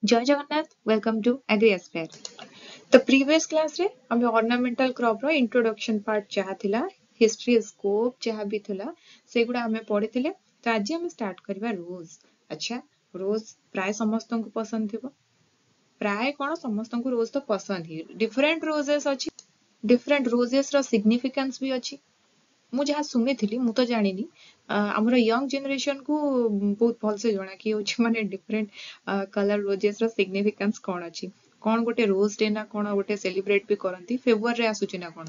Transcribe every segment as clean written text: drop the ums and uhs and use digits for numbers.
Jay Jagannath, welcome to agri Aspire. ତ previous କ୍ଲାସରେ ଆମେ ଅର୍ଣ୍ଣାମେଣ୍ଟାଲ କ୍ରପର ଇଣ୍ଟ୍ରୋଡକ୍ସନ ପାର୍ଟ ଯାହା ଥିଲା, ହିଷ୍ଟ୍ରି, ସ୍କୋପ ଯାହା ବି ଥିଲା, ସେଗୁଡ଼ା ଆମେ ପଢିଥିଲେ। ତ ଆଜି ଆମେ ଷ୍ଟାର୍ଟ କରିବା ରୋଜ୍। ଆଚ୍ଛା, ରୋଜ୍ ପ୍ରାୟ ସମସ୍ତଙ୍କୁ ପସନ୍ଦ ଥିବ। ପ୍ରାୟ କଣ, ସମସ୍ତଙ୍କୁ ରୋଜ୍ ତ ପସନ୍ଦ ହିଁ। ଡିଫରେଣ୍ଟ ରୋଜେସ୍ ଅଛି, ଡିଫରେଣ୍ଟ ରୋଜେସ୍ ର ସିଗ୍ନିଫିକାନ୍ସ ବି ଅଛି। ମୁଁ ଯାହା ଶୁଣିଥିଲି, ମୁଁ ତ ଜାଣିନି, ଆମର ୟଙ୍ଗ ଜେନେରେସନକୁ ବହୁତ ଭଲସେ ଜଣା କି ହଉଛି ମାନେ ଡିଫରେଣ୍ଟ କଲର ରୋଜେସ୍ ର ସିଗ୍ନିଫିକାନ୍ସ କଣ ଅଛି। କଣ ଗୋଟେ ରୋଜ ଡେ ନା କଣ ଗୋଟେ ସେଲିବ୍ରେଟ ବି କରନ୍ତି, ଫେବୃଆରୀରେ ଆସୁଛି ନା କଣ,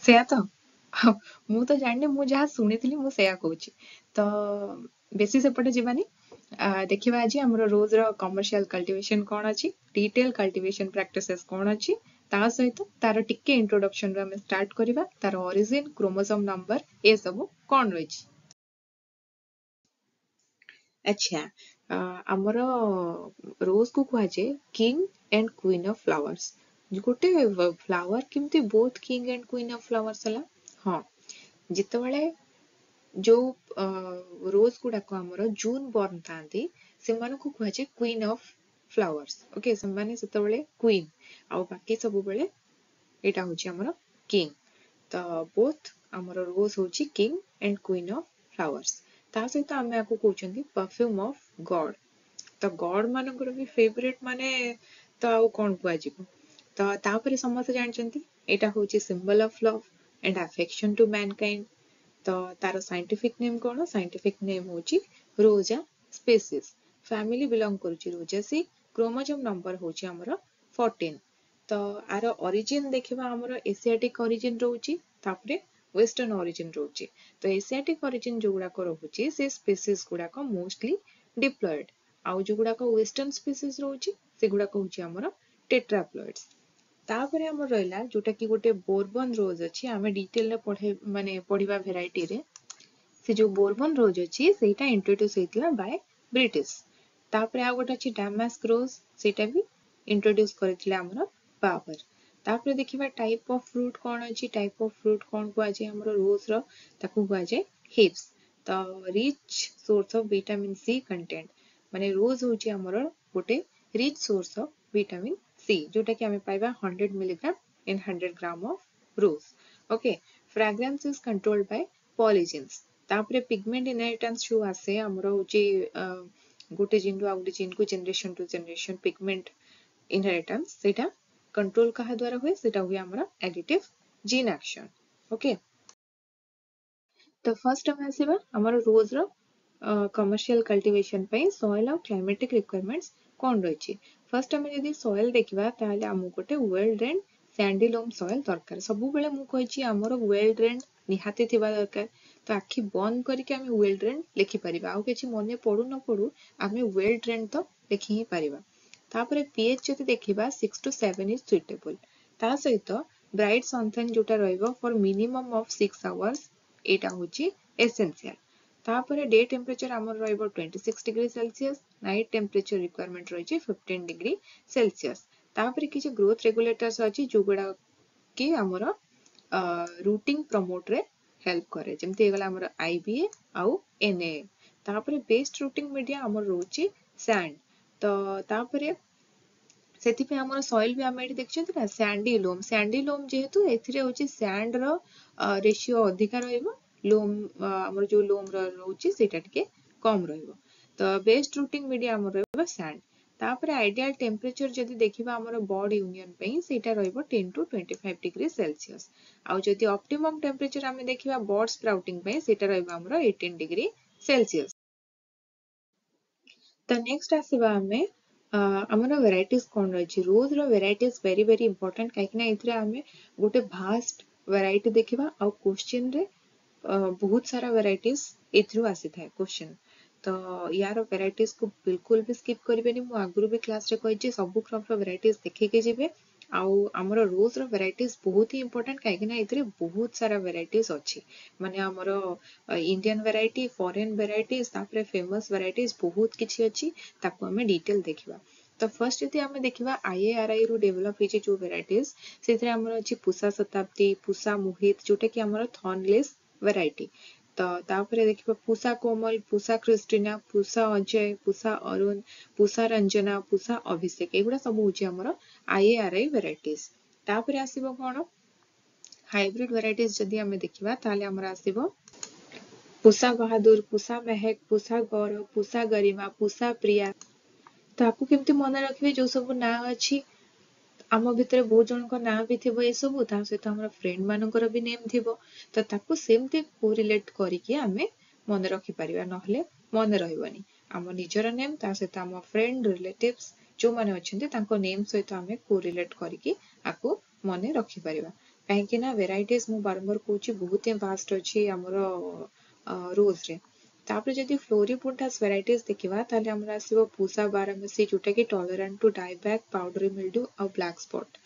ସେୟା ତ ମୁଁ ତ ଜାଣିନି, ମୁଁ ଯାହା ଶୁଣିଥିଲି ମୁଁ ସେୟା କହୁଛି। ତ ବେଶୀ ସେପଟେ ଯିବାନି। ଦେଖିବା ଆଜି ଆମର ରୋଜ ର କମର୍ସିଆଲ କଲ୍ଟିଭେସନ କଣ ଅଛି, ଡିଟେଲ କଲ୍ଟିଭେସନ ପ୍ରାକ୍ଟିସେସ୍ କଣ ଅଛି। ତା ସହିତ ତାର ଟିକେ ଇଣ୍ଟ୍ରୋଡକ୍ସନ ରୁ ଆମେ ଷ୍ଟାର୍ଟ କରିବା, ତାର ଅରିଜିନ, କ୍ରୋମୋସୋମ ନମ୍ବର ଏସବୁ କଣ ରହିଛି। ଆଚ୍ଛା, ଆମର ରୋଜ କୁ କୁହାଯାଏ king and queen of flowers. ଗୋଟେ ଫ୍ଲାୱାର କେମିତି both king and queen of flowers ହେଲା? ହଁ, ଯେତେବେଳେ ଯୋଉ ରୋଜ ଗୁଡାକ ଆମର ଜୁନ ବର୍ନ ଥାନ୍ତି, ସେମାନଙ୍କୁ କୁହାଯାଏ କୁଇନ୍ ଅଫ ଫ୍ଲାୱାର୍ସ। ଓକେ, ସେମାନେ ସେତେବେଳେ କୁଇନ୍ ଆଉ ବାକି ସବୁବେଳେ ଏଇଟା ହଉଛି ଆମର କିଙ୍ଗ। ତ ବୋଥ ଆମର ରୋଜ ହଉଛି king and queen of flowers. ତା ସହିତ ଆମେ ଆକୁ କହୁଛନ୍ତି ପରଫ୍ୟୁମ ଅଫ ଗଡ। ତ ଗଡ ମାନଙ୍କର ବି ଫେଭରେଟ ମାନେ ତ ଆଉ କଣ କୁହାଯିବ। ତ ତାପରେ ସମସ୍ତେ ଜାଣିଛନ୍ତି ଏଇଟା ହଉଛି symbol of love and affection to mankind. ତ ତାର ସାଇଣ୍ଟିଫିକ ନେମ୍ କଣ? ସାଇଣ୍ଟିଫିକ ନେମ୍ ହଉଛି ରୋଜା ସ୍ପେସିସ୍। ଫ୍ୟାମିଲି ବିଲଙ୍ଗ କରୁଛି ରୋଜାସି। କ୍ରୋମୋଜୋମ ନମ୍ବର ହଉଛି ଆମର 14। ତ ଆର ଅରିଜିନ ଦେଖିବା, ଆମର ଏସିଆଟିକ ଅରିଜିନ ରହୁଛି, ତାପରେ ୱେଷ୍ଟର୍ଣ୍ଣ ଅରିଜିନ ରହୁଛି। ତ ଏସିଆଟିକ ଅରିଜିନ ଯୋଉଗୁଡାକ ରହୁଛି, ସେ ସ୍ପେସିସ୍ ଗୁଡାକ ମୋଷ୍ଟଲି ଡିପ୍ଲଏଡ, ଆଉ ଯୋଉଗୁଡାକ ୱେଷ୍ଟର୍ଣ୍ଣ ସ୍ପେସିସ୍ ରହୁଛି, ସେଗୁଡାକ ହଉଛି ଆମର ଟେଟ୍ରାପ୍ଲଏଡ୍ସ। ତାପରେ ଆମର ରହିଲା ଯୋଉଟା କି ଗୋଟେ ବୋର୍ବନ ରୋଜ ଅଛି, ଆମେ ଡିଟେଲରେ ପଢେ ମାନେ ପଢିବା ଭେରାଇଟିରେ। ସେ ଯୋଉ ବୋର୍ବନ ରୋଜ ଅଛି, ସେଇଟା ଇଣ୍ଟ୍ରୋଡ୍ୟୁସ ହେଇଥିଲା ବାୟ ବ୍ରିଟିଶ। ତାପରେ ଆଉ ଗୋଟେ ଅଛି ଡାମାସ୍କ ରୋଜ, ସେଇଟା ବି ଇଣ୍ଟ୍ରୋଡ୍ୟୁସ କରିଥିଲେ ଆମର ବାବର। ତାପରେ ଦେଖିବା ଟାଇପ ଅଫ ଫ୍ରୁଟ କଣ ଅଛି। ଟାଇପ ଅଫ ଫ୍ରୁଟ କଣ କୁହାଯାଏ ଆମର ରୋଜ ର? ତାକୁ କୁହାଯାଏ ହିପ୍ସ। ତ rich source of vitamin C content, ମାନେ ରୋଜ ହଉଛି ଆମର ଗୋଟେ rich source of vitamin C, ଯୋଉଟା କି ଆମେ ପାଇବା 100 milligram in 100 gram of rose. Okay, fragrance is controlled by polyenes. ତାପରେ ପିଗମେଣ୍ଟ ଇନହେରିଟାନ୍ସ ଯୋଉ ଆସେ ଆମର ହଉଛି ଗୋଟେ ଜିନ୍ ରୁ ଆଉ ଗୋଟେ ଜିନ୍ କୁ, generation to generation pigment inheritance, ସେଇଟା କଣ୍ଟ୍ରୋଲ କାହା ଦ୍ୱାରା ହୁଏ? ସେଇଟା ହୁଏ ଆମର ଆଡିଟିଭ ଜିନ୍ ଆକ୍ସନ। ଓକେ, ତ ଫାର୍ଷ୍ଟ ଆମେ ଆସିବା ଆମର ରୋଜ ର କମର୍ସିଆଲ କଲ୍ଟିଭେସନ ପାଇଁ ସଏଲ ଆଉ କ୍ଲାଇମେଟିକ ରିକ୍ୱାରମେଣ୍ଟସ କଣ ରହିଛି। ଫାର୍ଷ୍ଟ ଆମେ ଯଦି ସଏଲ ଦେଖିବା, ତାହେଲେ ଆମକୁ ଗୋଟେ well drained sandy loam soil ଦରକାର। ସବୁବେଳେ ମୁଁ କହିଛି ଆମର ୱେଲ୍ ଡ୍ରେଣ୍ଡ ନିହାତି ଥିବା ଦରକାର। ତ ଆଖି ବନ୍ଦ କରିକି ଆମେ ୱେଲ୍ ଡ୍ରେଣ୍ଡ ଲେଖିପାରିବା। ଆଉ କିଛି ମନେ ପଡୁ ନ ପଡୁ, ଆମେ ୱେଲ୍ ଡ୍ରେଣ୍ଡ ତ ଲେଖି ହିଁ ପାରିବା। ତାପରେ ପିଏଚ୍ ଯଦି ଦେଖିବା, 6 to 7 is suitable. ତା ସହିତ ବ୍ରାଇଟ୍ ସନସାଇନ୍ ଯୋଉଟା ରହିବ for minimum of 6 hours, ଏଇଟା ହଉଛି ଏସେନ୍ସିଆଲ। ତାପରେ ଡେ ଟେମ୍ପରେଚର ଆମର ରହିବ 26 degree Celsius, night temperature requirement ରହିଛି 15 ଡିଗ୍ରୀ ସେଲସିୟସ। ତାପରେ କିଛି ଗ୍ରୋଥ ରେଗୁଲେଟର୍ସ ଅଛି, ଯୋଉଗୁଡା କି ଆମର ରୁଟିଂ ପ୍ରମୋଟରେ ହେଲ୍ପ କରେ, ଯେମିତି ହେଇଗଲା ଆମର ଆଇବିଏ ଆଉ ଏନଏ। ତାପରେ ବେଷ୍ଟ ରୁଟିଂ ମିଡିଆ ଆମର ରହୁଛି ସ୍ୟାଣ୍ଡ। ତ ତାପରେ ସେଥିପାଇଁ ଆମର ସଏଲ ବି ଆମେ ଏଠି ଦେଖିଛନ୍ତି ନା, ସ୍ୟାଣ୍ଡି ଲୋମ୍। ସ୍ୟାଣ୍ଡି ଲୋମ୍ ଯେହେତୁ ଏଥିରେ ହଉଛି ସ୍ୟାଣ୍ଡ ର ରେସିଓ ଅଧିକା ରହିବ, ଲୋମ୍ ଆମର ଯୋଉ ଲୋମ୍ ର ରହୁଛି ସେଇଟା ଟିକେ କମ ରହିବ। ତ ବେଷ୍ଟ ରୁଟିଂ ମିଡିଆ ଆମର ରହିବ ସ୍ୟାଣ୍ଡ। ତାପରେ ଆଇଡିଆଲ ଟେମ୍ପରେଚର ଯଦି ଦେଖିବା ଆମର ବଡ୍ ୟୁନିୟନ ପାଇଁ, ସେଇଟା ରହିବ 10 to 25 degree Celsius। ଆଉ ଯଦି ଅପ୍ଟିମମ୍ ଟେମ୍ପରେଚର ଆମେ ଦେଖିବା ବଡ୍ ସ୍ପ୍ରାଉଟିଂ ପାଇଁ, ସେଇଟା ରହିବ ଆମର 18 ଡିଗ୍ରୀ ସେଲସିୟସ। ତ ନେକ୍ସଟ ଆସିବା ଆମେ ଆମର ଭେରାଇଟିଜ କଣ ରହିଛି। ରୋଜ ର ଭେରାଇଟିଜ ଭେରି ଭେରି ଇମ୍ପୋର୍ଟାଣ୍ଟ, କାହିଁକି ନା ଏଥିରେ ଆମେ ଗୋଟେ ଭାଷ୍ଟ ଭେରାଇଟି ଦେଖିବା ଆଉ କ୍ୱେଶ୍ଚିନରେ ବହୁତ ସାରା ଭେରାଇଟିଜ ଏଥିରୁ ଆସିଥାଏ କ୍ୱେଶ୍ଚିନ୍। ତ ୟାର ଭେରାଇଟିଜ କୁ ବିଲକୁଲ ବି ସ୍କିପ୍ କରିବେନି। ମୁଁ ଆଗରୁ ବି କ୍ଲାସରେ କହିଛି, ସବୁ କ୍ରପର ଭେରାଇଟିଜ ଦେଖିକି ଯିବେ। ଆଉ ଆମର ରୋଜ ର ଭେରାଇଟିଜ ବହୁତ ହି ଇମ୍ପୋର୍ଟାଣ୍ଟ, କାହିଁକି ନା ଏଥିରେ ବହୁତ ସାରା ଭେରାଇଟିଜ ଅଛି। ମାନେ ଆମର ଇଣ୍ଡିଆନ ଭେରାଇଟି, ଫରେନ ଭେରାଇଟିଜ, ତାପରେ ଫେମସ ଭେରାଇଟିଜ ବହୁତ କିଛି ଅଛି। ତାକୁ ଆମେ ଡିଟେଲ ଦେଖିବା। ତ ଫାର୍ଷ୍ଟ ଯଦି ଆମେ ଦେଖିବା, ଆଇଏଆରଆଇ ରୁ ଡେଭଲପ ହେଇଛି ଯୋଉ ଭେରାଇଟିଜ, ସେଥିରେ ଆମର ଅଛି ପୁଷା ଶତାବ୍ଦୀ, ପୁଷା ମୋହିତ, ଯୋଉଟା କି ଆମର ଥର୍ନଲେସ୍ ଭେରାଇଟି। ତ ତାପରେ ଦେଖିବା ପୁଷା କୋମଲ, ପୁଷା ଖ୍ରୀଷ୍ଟିନା, ପୁଷା ଅଜୟ, ପୁଷା ଅରୁଣ, ପୁଷା ରଞ୍ଜନା, ପୁଷା ଅଭିଷେକ, ଏଗୁଡ଼ା ସବୁ ହେଉଛି ଆମର ଆଇଏଆରଆଇ ଭେରାଇଟିଜ। ତାପରେ ଆସିବ କ'ଣ? ହାଇବ୍ରିଡ ଭେରାଇଟିଜ ଯଦି ଆମେ ଦେଖିବା, ତାହେଲେ ଆମର ଆସିବ ପୁଷା ବାହାଦୁର, ପୁଷା ମେହେକ, ପୁଷା ଗୌରବ, ପୁଷା ଗରିମା, ପୁଷା ପ୍ରିୟା। ତାକୁ କେମିତି ମନେ ରଖିବେ? ଯୋଉ ସବୁ ନାଁ ଅଛି, ଆମ ଭିତରେ ବହୁତ ଜଣଙ୍କ ନାଁ ବି ଥିବ ଏସବୁ, ତା ସହିତ ଆମର ଫ୍ରେଣ୍ଡ ମାନଙ୍କର ବି ନେମ୍ ଥିବ, ତ ତାକୁ ସେମିତି କୋରିଲେଟ କରିକି ଆମେ ମନେ ରଖିପାରିବା, ନହେଲେ ମନେ ରହିବନି। ଆମ ନିଜର ନେମ୍, ତା ସହିତ ଆମ ଫ୍ରେଣ୍ଡ, ରିଲେଟିଭ୍ସ ଯୋଉମାନେ ଅଛନ୍ତି, ତାଙ୍କ ନେମ୍ ସହିତ ଆମେ କୋରିଲେଟ କରିକି ଆକୁ ମନେ ରଖିପାରିବା। କାହିଁକି ନା ଭେରାଇଟିଜ, ମୁଁ ବାରମ୍ବାର କହୁଛି, ବହୁତ ହିଁ ଭାଷ୍ଟ ଅଛି ଆମର ରୋଜରେ। ତାପରେ ଯଦି ଫ୍ଲୋରିବୁଣ୍ଡାସ୍ ଭେରାଇଟିଜ ଦେଖିବା, ତାହେଲେ ଆମର ଆସିବ ପୁଷା ବାରାମସୀ, ଯୋଉଟା କି ଟଲରାଣ୍ଟ ଟୁ ଡାଇବ୍ୟାକ୍, ପାଉଡର ମିଲ୍ଡୁ ଆଉ ବ୍ଲାକ୍ ସ୍ପଟ୍।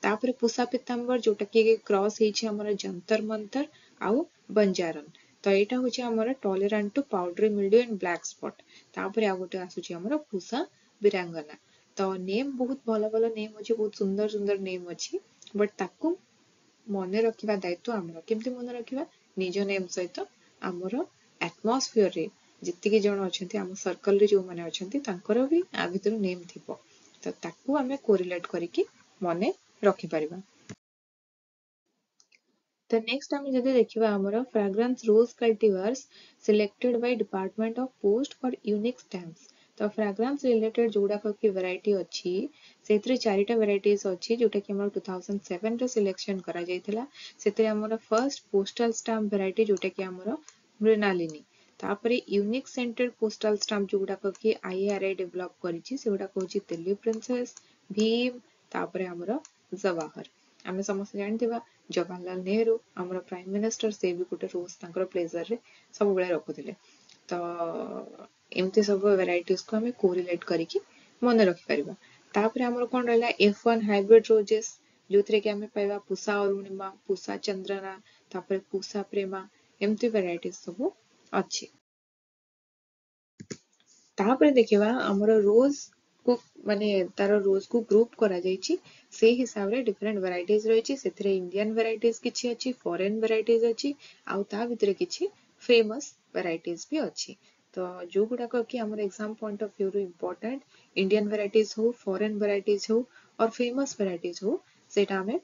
ତାପରେ ପୁଷା ପିତାମ୍ବର, ଯୋଉଟା କି କ୍ରସ୍ ହେଇଛି ଆମର ଯନ୍ତର ମନ୍ତର ଆଉ ବଞ୍ଜାରନ। ତ ଏଇଟା ହଉଛି ଆମର tolerant to powdery mildew and black spot. ତାପରେ ଆଉ ଗୋଟେ ଆସୁଛି ଆମର ପୁଷା ବୀରାଙ୍ଗନା। ତ ନେମ୍ ବହୁତ ଭଲ ଭଲ ନେମ୍ ଅଛି, ବହୁତ ସୁନ୍ଦର ସୁନ୍ଦର ନେମ୍ ଅଛି, ବଟ୍ ତାକୁ ମନେ ରଖିବା ଦାୟିତ୍ୱ ଆମର। କେମିତି ମନେ ରଖିବା? ନିଜ ନେମ୍ ସହିତ ଆମର ଆଟମସ୍ଫିୟରରେ ଯେତିକି ଜଣ ଅଛନ୍ତି, ଆମ ସର୍କଲରେ ଯୋଉମାନେ ଅଛନ୍ତି, ତାଙ୍କର ବି ଆ ଭିତରୁ ନେମ୍ ଥିବ, ତ ତାକୁ ଆମେ କୋରିଲେଟ କରିକି ମନେ ରଖିପାରିବା। ତ ନେକ୍ସଟ ଆମେ ଯଦି ଦେଖିବା ଆମର fragrance rose cultivars selected by Department of Post for unique stamps। ତ ଫ୍ରାଗ୍ରାନ୍ସ ରିଲେଟେଡ୍ ଯୋଉଗୁଡ଼ାକ କି ଭେରାଇଟି ଅଛି, ସେଇଥିରେ ଚାରିଟା ଭେରାଇଟିଜ ଅଛି, ଯୋଉଟାକି ଆମର 2007ରେ ସିଲେକ୍ସନ କରାଯାଇଥିଲା। ସେଥିରେ ଆମର ଫର୍ଷ୍ଟ ପୋଷ୍ଟାଲ ଷ୍ଟାମ୍ପ ଭେରାଇଟି, ଯୋଉଟାକି ଆମର ମୃଣାଲିନୀ। ତାପରେ ୟୁନିକ୍ ସେଣ୍ଟେଡ୍ ପୋଷ୍ଟାଲ ଷ୍ଟାମ୍ପ ଯୋଉଗୁଡ଼ାକ କି ଆଇଆରଆଇ ଡେଭଲପ କରିଛି, ସେଗୁଡ଼ାକ ହଉଛି ଦିଲ୍ଲୀ ପ୍ରିନ୍ସେସ, ଭୀମ, ତାପରେ ଆମର ଜବାହର। ଆମେ ସମସ୍ତେ ଜାଣିଥିବା, ଜବାହରଲାଲ ନେହେରୁ ଆମର ପ୍ରାଇମ ମିନିଷ୍ଟର, ସେ ବି ଗୋଟେ ରୋଜ ତାଙ୍କର ପ୍ଲେଜରରେ ସବୁବେଳେ ରଖୁଥିଲେ। ତ ଏମିତି ସବୁ ଭେରାଇଟିଜକୁ ଆମେ କୋରିଲେଟ କରିକି ମନେ ରଖିପାରିବା। ତାପରେ ଆମର କ'ଣ ରହିଲା? F1 hybrid ରୋଜେସ୍, ଯୋଉଥିରେ କି ଆମେ ପାଇବା ପୁଷା ଅରୁଣିମା, ପୁଷା ଚନ୍ଦ୍ରନା, ତାପରେ ପୁଷା ପ୍ରେମା, ଏମିତି ଭେରାଇଟିଜ ସବୁ ଅଛି। ତାପରେ ଦେଖିବା ଆମର ରୋଜ କୁ, ମାନେ ତାର ରୋଜ କୁ ଗ୍ରୁପ କରାଯାଇଛି, ସେଇ ହିସାବରେ ଡିଫରେଣ୍ଟ ଭେରାଇଟିଜ ରହିଛି। ସେଥିରେ ଇଣ୍ଡିଆନ ଭେରାଇଟିଜ କିଛି ଅଛି, ଫରେନ ଭେରାଇଟିଜ ଅଛି, ଆଉ ତା ଭିତରେ କିଛି ଫେମସ ଭେରାଇଟିଜ ବି ଅଛି। ତ ଯୋଉଗୁଡାକ କି ଆମର ଏକ୍ସାମ ପଏଣ୍ଟ ଅଫ ଭ୍ୟୁରୁ ଇମ୍ପୋର୍ଟାଣ୍ଟ, ଇଣ୍ଡିଆନ ଭେରାଇଟିଜ ହଉ, ଫରେନ ଭେରାଇଟିଜ ହଉ ଅର୍ ଫେମସ ଭେରାଇଟିଜ ହଉ, ସେଇଟା ଆମେ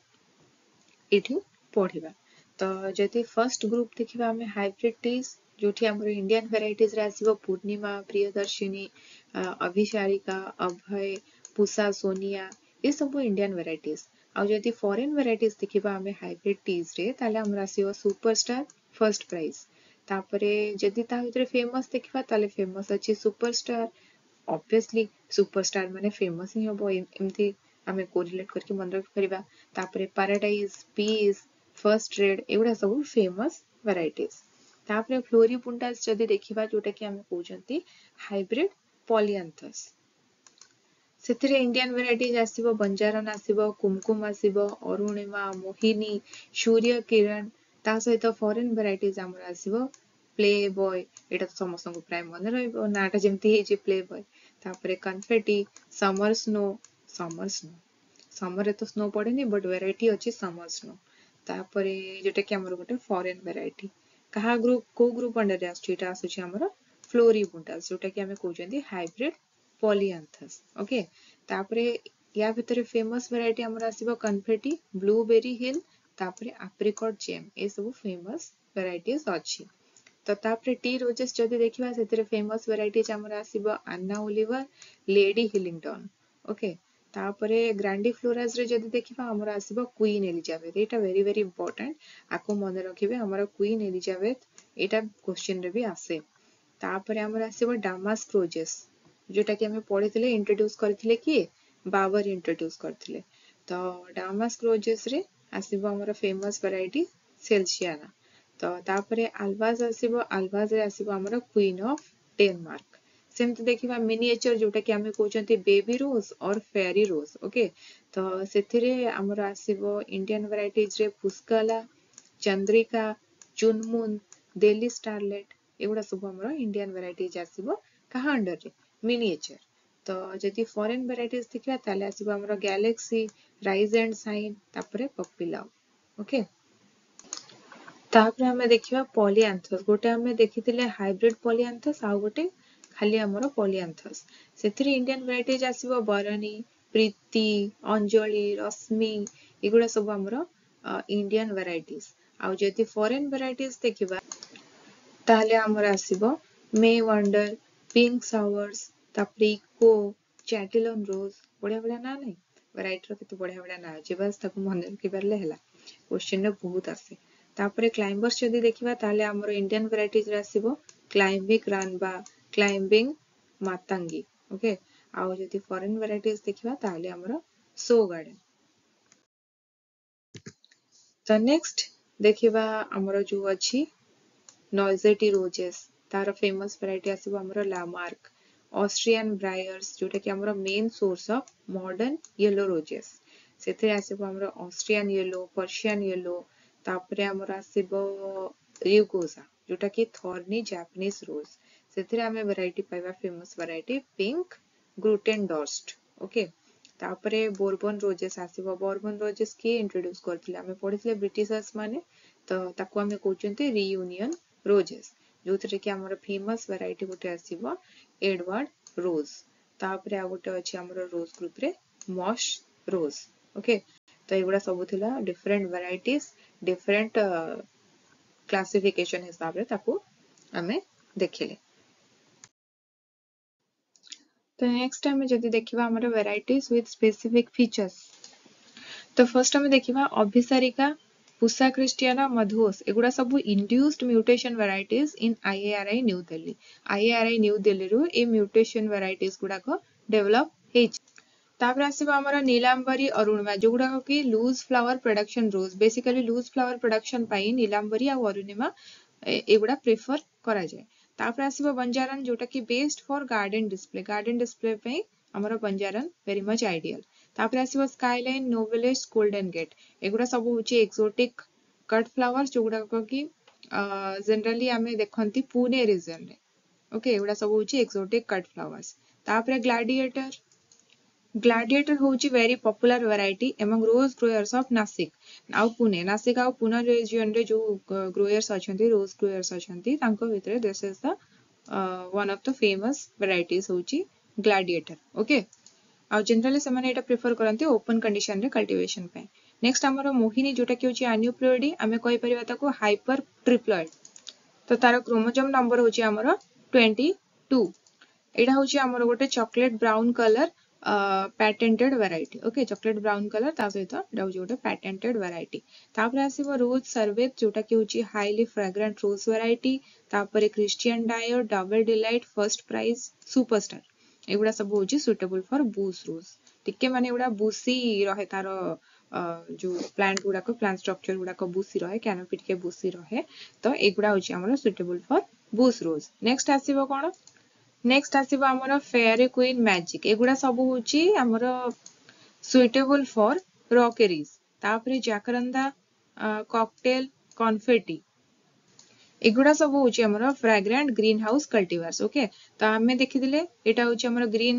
ଏଇଠି ପଢିବା। ତ ଯଦି ଫର୍ଷ୍ଟ ଗ୍ରୁପ ଦେଖିବା ଆମେ ହାଇବ୍ରିଡ ଟିଜ୍, ଯୋଉଠି ଆମର ଇଣ୍ଡିଆନ ଭେରାଇଟିଜରେ ଆସିବ ପୂର୍ଣ୍ଣିମା, ପ୍ରିୟଦର୍ଶିନୀ, ଅଭିସାରିକା, ଅଭୟ, ପୁଷା ସୋନିଆ, ଏସବୁ ଇଣ୍ଡିଆନ ଭେରାଇଟିଜ। ଆଉ ଯଦି ଫରେନ ଭେରାଇଟିଜ ଦେଖିବା ଆମେ ହାଇବ୍ରିଡ ଟିଜରେ, ତାହେଲେ ଆମର ଆସିବ ସୁପରଷ୍ଟାର, ଫର୍ଷ୍ଟ ପ୍ରାଇଜ। ତାପରେ ଯଦି ତା ଭିତରେ ଫେମସ ଦେଖିବା, ତାହେଲେ ଫେମସ ଅଛି ସୁପରଷ୍ଟାର। ଅବଭିୟସଲି ସୁପରଷ୍ଟାର ମାନେ ଫେମସ ହିଁ ହବ, ଏମିତି ଆମେ କୋରିଲେଟ କରିକି ମନେ ରଖିପାରିବା। ତାପରେ ପାରାଡାଇଜ, ପିସ୍, ଫର୍ଷ୍ଟ ରେଡ୍, ଏଗୁଡ଼ା ସବୁ ଫେମସ ଭେରାଇଟିଜ। ତାପରେ ଫ୍ଲୋରିବୁଣ୍ଡାସ ଯଦି ଦେଖିବା, ଯୋଉଟା କି ଆମେ କହୁଛନ୍ତି ହାଇବ୍ରିଡ ପଲିଆନ୍ଥସ୍, ସେଥିରେ ଇଣ୍ଡିଆନ ଭେରାଇଟିଜ ଆସିବ ବଞ୍ଜାରନ ଆସିବ, କୁମକୁମ ଆସିବ, ଅରୁଣିମା, ମୋହିନୀ, ସୂର୍ଯ୍ୟ କିରଣ। ତା ସହିତ ଫରେନ ଭେରାଇଟିଜ ଆମର ଆସିବ ପ୍ଲେ ବୟ, ଏଇଟା ତ ସମସ୍ତଙ୍କୁ ପ୍ରାୟ ମନେ ରହିବ, ନାଁଟା ଯେମିତି ହେଇଛି ପ୍ଲେ ବୟ। ତାପରେ କନଫେଟି, ସମର ସ୍ନୋ। ସମର ସ୍ନୋ, ସମରରେ ତ ସ୍ନୋ ପଡେନି, ବଟ୍ ଭେରାଇଟି ଅଛି ସମର ସ୍ନୋ। ତାପରେ ଯୋଉଟା କି ଆମର ଗୋଟେ ଫରେନ ଭେରାଇଟି। କାହା ଗ୍ରୁପ, କୋଉ ଗ୍ରୁପ ଅଣ୍ଡରରେ ଆସୁଛି ଏଇଟା? ଆସୁଛି ଆମର ଫ୍ଲୋରିବୁଣ୍ଡାସ, ଯୋଉଟା କି ଆମେ କହୁଛନ୍ତି ହାଇବ୍ରିଡ ପଲିଆନ୍ଥସ୍। ଓକେ, ତାପରେ ୟା ଭିତରେ ଫେମସ ଭେରାଇଟି ଆମର ଆସିବ କନଫେଟି, ବ୍ଲୁବେରୀ ହିଲ୍, ତାପରେ ଆପ୍ରିକଟ ଜେମ୍, ଏସବୁ ଫେମସ ଭେରାଇଟିଜ ଅଛି। ତ ତାପରେ ଟି ରୋଜେସ୍ ଯଦି ଦେଖିବା, ସେଥିରେ ଫେମସ ଭେରାଇଟିଜ ଆମର ଆସିବ ଆନ୍ନା ଓଲିଭର, ଲେଡି ହିଲିଂଟନ। ଓକେ, ତାପରେ ଗ୍ରାଣ୍ଡି ଫ୍ଲୋରାଜରେ ଯଦି ଦେଖିବା, ଆମର ଆସିବ କୁଇନ୍ ଏଲିଜାବେଥ। ଏଇଟା ଭେରି ଭେରି ଇମ୍ପୋର୍ଟାଣ୍ଟ, ଆକୁ ମନେ ରଖିବେ। ଆମର କୁଇନ୍ ଏଲିଜାବେଥ, ଏଇଟା କ୍ୱେଶ୍ଚିନରେ ବି ଆସେ। ତାପରେ ଆମର ଆସିବ ଡାମାସ୍କ ରୋଜେସ୍, ଯୋଉଟା କି ଆମେ ପଢିଥିଲେ, ଇଣ୍ଟ୍ରୋଡ୍ୟୁସ କରିଥିଲେ କିଏ? ବାବର ଇଣ୍ଟ୍ରୋଡ୍ୟୁସ କରିଥିଲେ। ତ ଡାମାସ୍କ ରୋଜେସରେ ଆସିବ ଆମର ଫେମସ ଭେରାଇଟି ସେଲସିଆନା। ତ ତାପରେ ଆଲବାଜ ଆସିବ, ଆଲବାଜରେ ଆସିବ ଆମର କୁଇନ୍ ଅଫ ଡେନମାର୍କ। ସେମିତି ଦେଖିବା ମିନିଏଚର, ଯୋଉଟା କି ଆମେ କହୁଛନ୍ତି ବେବି ରୋଜ ଅର୍ ଫେୟାରୀ ରୋଜ। ଓକେ, ତ ସେଥିରେ ଆମର ଆସିବ ଇଣ୍ଡିଆନ ଭେରାଇଟିଜରେ ପୁଷ୍କଲା, ଚନ୍ଦ୍ରିକା, ଚୁନମୁନ, ଦିଲ୍ଲୀ ଷ୍ଟାରଲେଟ, ଏଗୁଡ଼ା ସବୁ ଆମର ଇଣ୍ଡିଆନ ଭେରାଇଟିଜ ଆସିବ। କାହା ଅଣ୍ଡରରେ? ମିନିଏଚର। ତ ଯଦି ଫରେନ ଭେରାଇଟିଜ ଦେଖିବା, ତାହେଲେ ଆସିବ ଆମର ଗ୍ୟାଲେକ୍ସି, ରାଇଜ ଆଣ୍ଡ ସାଇନ୍, ତାପରେ ପପିଲାଉ। ଓକେ। ତାପରେ ଆମେ ଦେଖିବା ପଲିଆନ୍ଥସ୍। ଗୋଟେ ଆମେ ଦେଖିଥିଲେ ହାଇବ୍ରିଡ ପଲିଆନ୍ଥସ୍, ଆଉ ଗୋଟେ ଖାଲି ଆମର ପଲିଆନ୍ଥସ୍। ସେଥିରେ ଇଣ୍ଡିଆନ ଭେରାଇଟିଜ ଆସିବ ବରଣୀ, ପ୍ରୀତି, ଅଞ୍ଜଳି, ରଶ୍ମି, ଏଗୁଡ଼ା ସବୁ ଆମର ଇଣ୍ଡିଆନ ଭେରାଇଟିଜ। ଆଉ ଯଦି ଫରେନ୍ ଭେରାଇଟିଜ ଦେଖିବା, ତାହେଲେ ଆମର ଆସିବ ମେ ୱାଣ୍ଡର, ପିଙ୍କ ସାୱାର୍ସ, ତାପରେ ଇକୋ, ଚାଟିଲନ ରୋଜ। ବଢିଆ ବଢିଆ ନାଁ ନାହିଁ ଭେରାଇଟିର? କେତେ ବଢିଆ ବଢିଆ ନାଁ ଅଛି, ବାସ୍ ତାକୁ ମନେ ରଖିପାରିଲେ ହେଲା, କ୍ୱେଶ୍ଚିନରେ ବହୁତ ଆସେ। ତାପରେ କ୍ଲାଇମ୍ବର୍ସ ଯଦି ଦେଖିବା, ତାହେଲେ ଆମର ଇଣ୍ଡିଆନ ଭେରାଇଟିଜରେ ଆସିବ କ୍ଲାଇମ୍ବିଂ ରାନବା, କ୍ଲାଇମ୍ବିଂ ମାତାଙ୍ଗୀ। ଓକେ, ଆଉ ଯଦି ଫରେନ୍ ଭେରାଇଟିଜ ଦେଖିବା, ତାହେଲେ ଆମର ସୋ ଗାର୍ଡେନ। ତ ନେକ୍ସଟ ଦେଖିବା ଆମର ଯୋଉ ଅଛି ନଏଜେଟି ରୋଜେସ୍, ତାର ଫେମସ ଭେରାଇଟି ଆସିବ ଆମର ଲାମାର୍କ। ଅଷ୍ଟ୍ରିଆନ ବ୍ରାୟର୍ସ, ଯୋଉଟା କି ଆମର main source of modern yellow roses, ସେଥିରେ ଆସିବ ଆମର ଅଷ୍ଟ୍ରିଆନ ୟେଲୋ, ପର୍ସିଆନ ୟେଲୋ। ତାପରେ ଆମର ଆସିବ ରିଉଗୋଜା, ଯୋଉଟା କି ଥର୍ନି ଜାପାନିଜ ରୋଜ, ସେଥିରେ ଆମେ ଭେରାଇଟି ପାଇବା ଫେମସ ଭେରାଇଟି ପିଙ୍କ ଗ୍ରୁଟେନଡର୍ଷ୍ଟ। ଓକେ, ତାପରେ ବୋର୍ବନ ରୋଜେସ୍ ଆସିବ। ବୋର୍ବନ ରୋଜେସ୍ କିଏ ଇଣ୍ଟ୍ରୋଡ୍ୟୁସ କରିଥିଲେ? ଆମେ ପଢିଥିଲେ ବ୍ରିଟିଶର୍ସ ମାନେ। ତ ତାକୁ ଆମେ କହୁଛନ୍ତି ରିୟୁନିୟନ ରୋଜେସ୍, ଯୋଉଥିରେ କି ଆମର ଫେମସ ଭେରାଇଟି ଗୋଟେ ଆସିବ ଏଡୱାର୍ଡ ରୋଜ। ତାପରେ ଆଉ ଗୋଟେ ଅଛି ଆମର ରୋଜ ଗ୍ରୁପରେ ମସ୍ ରୋଜ। ଓକେ, ତ ଏଗୁଡ଼ା ସବୁ ଥିଲା ଡିଫରେଣ୍ଟ ଭେରାଇଟିଜ, ଡିଫରେଣ୍ଟ କ୍ଲାସିଫିକେସନ ହିସାବରେ ତାକୁ ଆମେ ଦେଖିଲେ। ତ ନେକ୍ସଟ ଆମେ ଯଦି ଦେଖିବା ଆମର ଭେରାଇଟିଜ ୱିଥ୍ ସ୍ପେସିଫିକ ଫିଚର୍ସ, ତ ଫର୍ଷ୍ଟ ଆମେ ଦେଖିବା ଅଭିସାରିକା, ପୁସା ଖ୍ରୀଷ୍ଟିଆନା, ମଧୁଓସ, ଏଗୁଡ଼ା ସବୁ induced mutation varieties in IARI, New Delhi. IARI new ଦିଲ୍ଲୀରୁ ଏ ମ୍ୟୁଟେସନ ଭେରାଇଟିଜ ଗୁଡାକ ଡେଭଲପ ହେଇଛି। ତାପରେ ଆସିବ ଆମର ନୀଲାମ୍ବରୀ, ଅରୁଣିମା, ଯୋଉଗୁଡାକ କି loose flower production rose. Basically loose flower production ପାଇଁ ନୀଲାମ୍ବରୀ ଆଉ ଅରୁଣିମା ଏଗୁଡ଼ା ପ୍ରିଫର କରାଯାଏ। ତାପରେ ଆସିବ ବଞ୍ଜାରନ, ଯୋଉଟା କି best for garden display. Garden display ପାଇଁ ଆମର ବଞ୍ଜାରନ ଭେରି ମଚ୍ ଆଇଡିଆଲ। ତାପରେ ଆସିବ ସ୍କାଇଲାଇନ, ନୋଭେଲେସ୍, ଗୋଲ୍ଡେନ ଗେଟ୍, ଏଗୁଡ଼ା ସବୁ ହଉଛି ଏକ୍ସୋଟିକ କଟ୍ ଫ୍ଲାୱାର୍ସ, ଯୋଉଗୁଡାକ କି ଜେନେରାଲି ଆମେ ଦେଖନ୍ତି ପୁନେ ରିଜନରେ। ଓକେ, ଏଗୁଡ଼ା ସବୁ ହଉଛି ଏକ୍ସୋଟିକ କଟ୍ ଫ୍ଲାୱାର୍ସ। ତାପରେ ଗ୍ଲାଡିଏଟର। ଗ୍ଲାଡିଏଟର ହଉଛି very popular variety among rose growers of Nashik ଆଉ ପୁନେ। ନାସିକ ଆଉ ପୁନେ ରିଜିଅନରେ ଯୋଉ ଗ୍ରୋୟର୍ସ ଅଛନ୍ତି, ରୋଜ ଗ୍ରୋୟର୍ସ ଅଛନ୍ତି, ତାଙ୍କ ଭିତରେ this is the one of the famous varieties ହଉଛି ଗ୍ଲାଡିଏଟର। ଓକେ, ଆଉ ଜେନେରାଲି ସେମାନେ ଏଇଟା ପ୍ରିଫର କରନ୍ତି ଓପନ କଣ୍ଡିସନରେ କଲ୍ଟିଭେସନ ପାଇଁ। ନେକ୍ସଟ ଆମର ମୋହିନୀ, ଯୋଉଟା କି ହଉଛି ଆନ୍ୟୁପ୍ଲୋଇଡି, ଆମେ କହିପାରିବା ତାକୁ ହାଇପର ଟ୍ରିପ୍ଲଏଡ। ତ ତାର କ୍ରୋମୋଜୋମ ନମ୍ବର ହଉଛି ଆମର 22। ଏଇଟା ହଉଛି ଆମର ଗୋଟେ chocolate brown colour patented variety. Okay, chocolate brown colour, ତା ସହିତ ଏଇଟା ହଉଛି ଗୋଟେ ପ୍ୟାଟେଣ୍ଟେଡ ଭେରାଇଟି। ତାପରେ ଆସିବ ରୋଜ ସର୍ବେତ, ଯୋଉଟା କି ହଉଛି ହାଇଲି ଫ୍ରାଗ୍ରାଣ୍ଟ ରୋଜ ଭେରାଇଟି। ତାପରେ Christian Dior, double delight, first prize, superstar, ଏଗୁଡ଼ା ସବୁ ହଉଛି ସୁଇଟେବଲ ଫର ବୁସ୍ ରୋଜ। ଟିକେ ମାନେ ଏଗୁଡ଼ା ବୁସି ରହେ, ତାର ଯୋଉ ପ୍ଲାଣ୍ଟ ଗୁଡାକ, ପ୍ଲାଣ୍ଟ ଷ୍ଟ୍ରକ୍ଚର ଗୁଡାକ ବୁସି ରହେ, କ୍ୟାନୋପି ଟିକେ ବୁସି ରହେ। ତ ଏଗୁଡ଼ା ହଉଛି ଆମର ସୁଇଟେବଲ ଫର ବୁସ୍ ରୋଜ। ନେକ୍ସଟ ଆସିବ କଣ? ନେକ୍ସଟ ଆସିବ ଆମର ଫେୟାର କୁଇନ୍, ମ୍ୟାଜିକ, ଏଗୁଡ଼ା ସବୁ ହଉଛି ଆମର ସୁଇଟେବଲ ଫର ରକେରିଜ। ତାପରେ ଜାକରନ୍ଦା, କକଟେଲ, କନଫେଟି, ଏଗୁଡ଼ା ସବୁ ହଉଛି ଆମର ଫ୍ରାଗ୍ରାଣ୍ଟ ଗ୍ରୀନ ହାଉସ କଲ୍ଟିଭାର୍ସ। ଓକେ, ତ ଆମେ ଦେଖିଥିଲେ ଏଇଟା ହଉଛି ଆମର ଗ୍ରୀନ,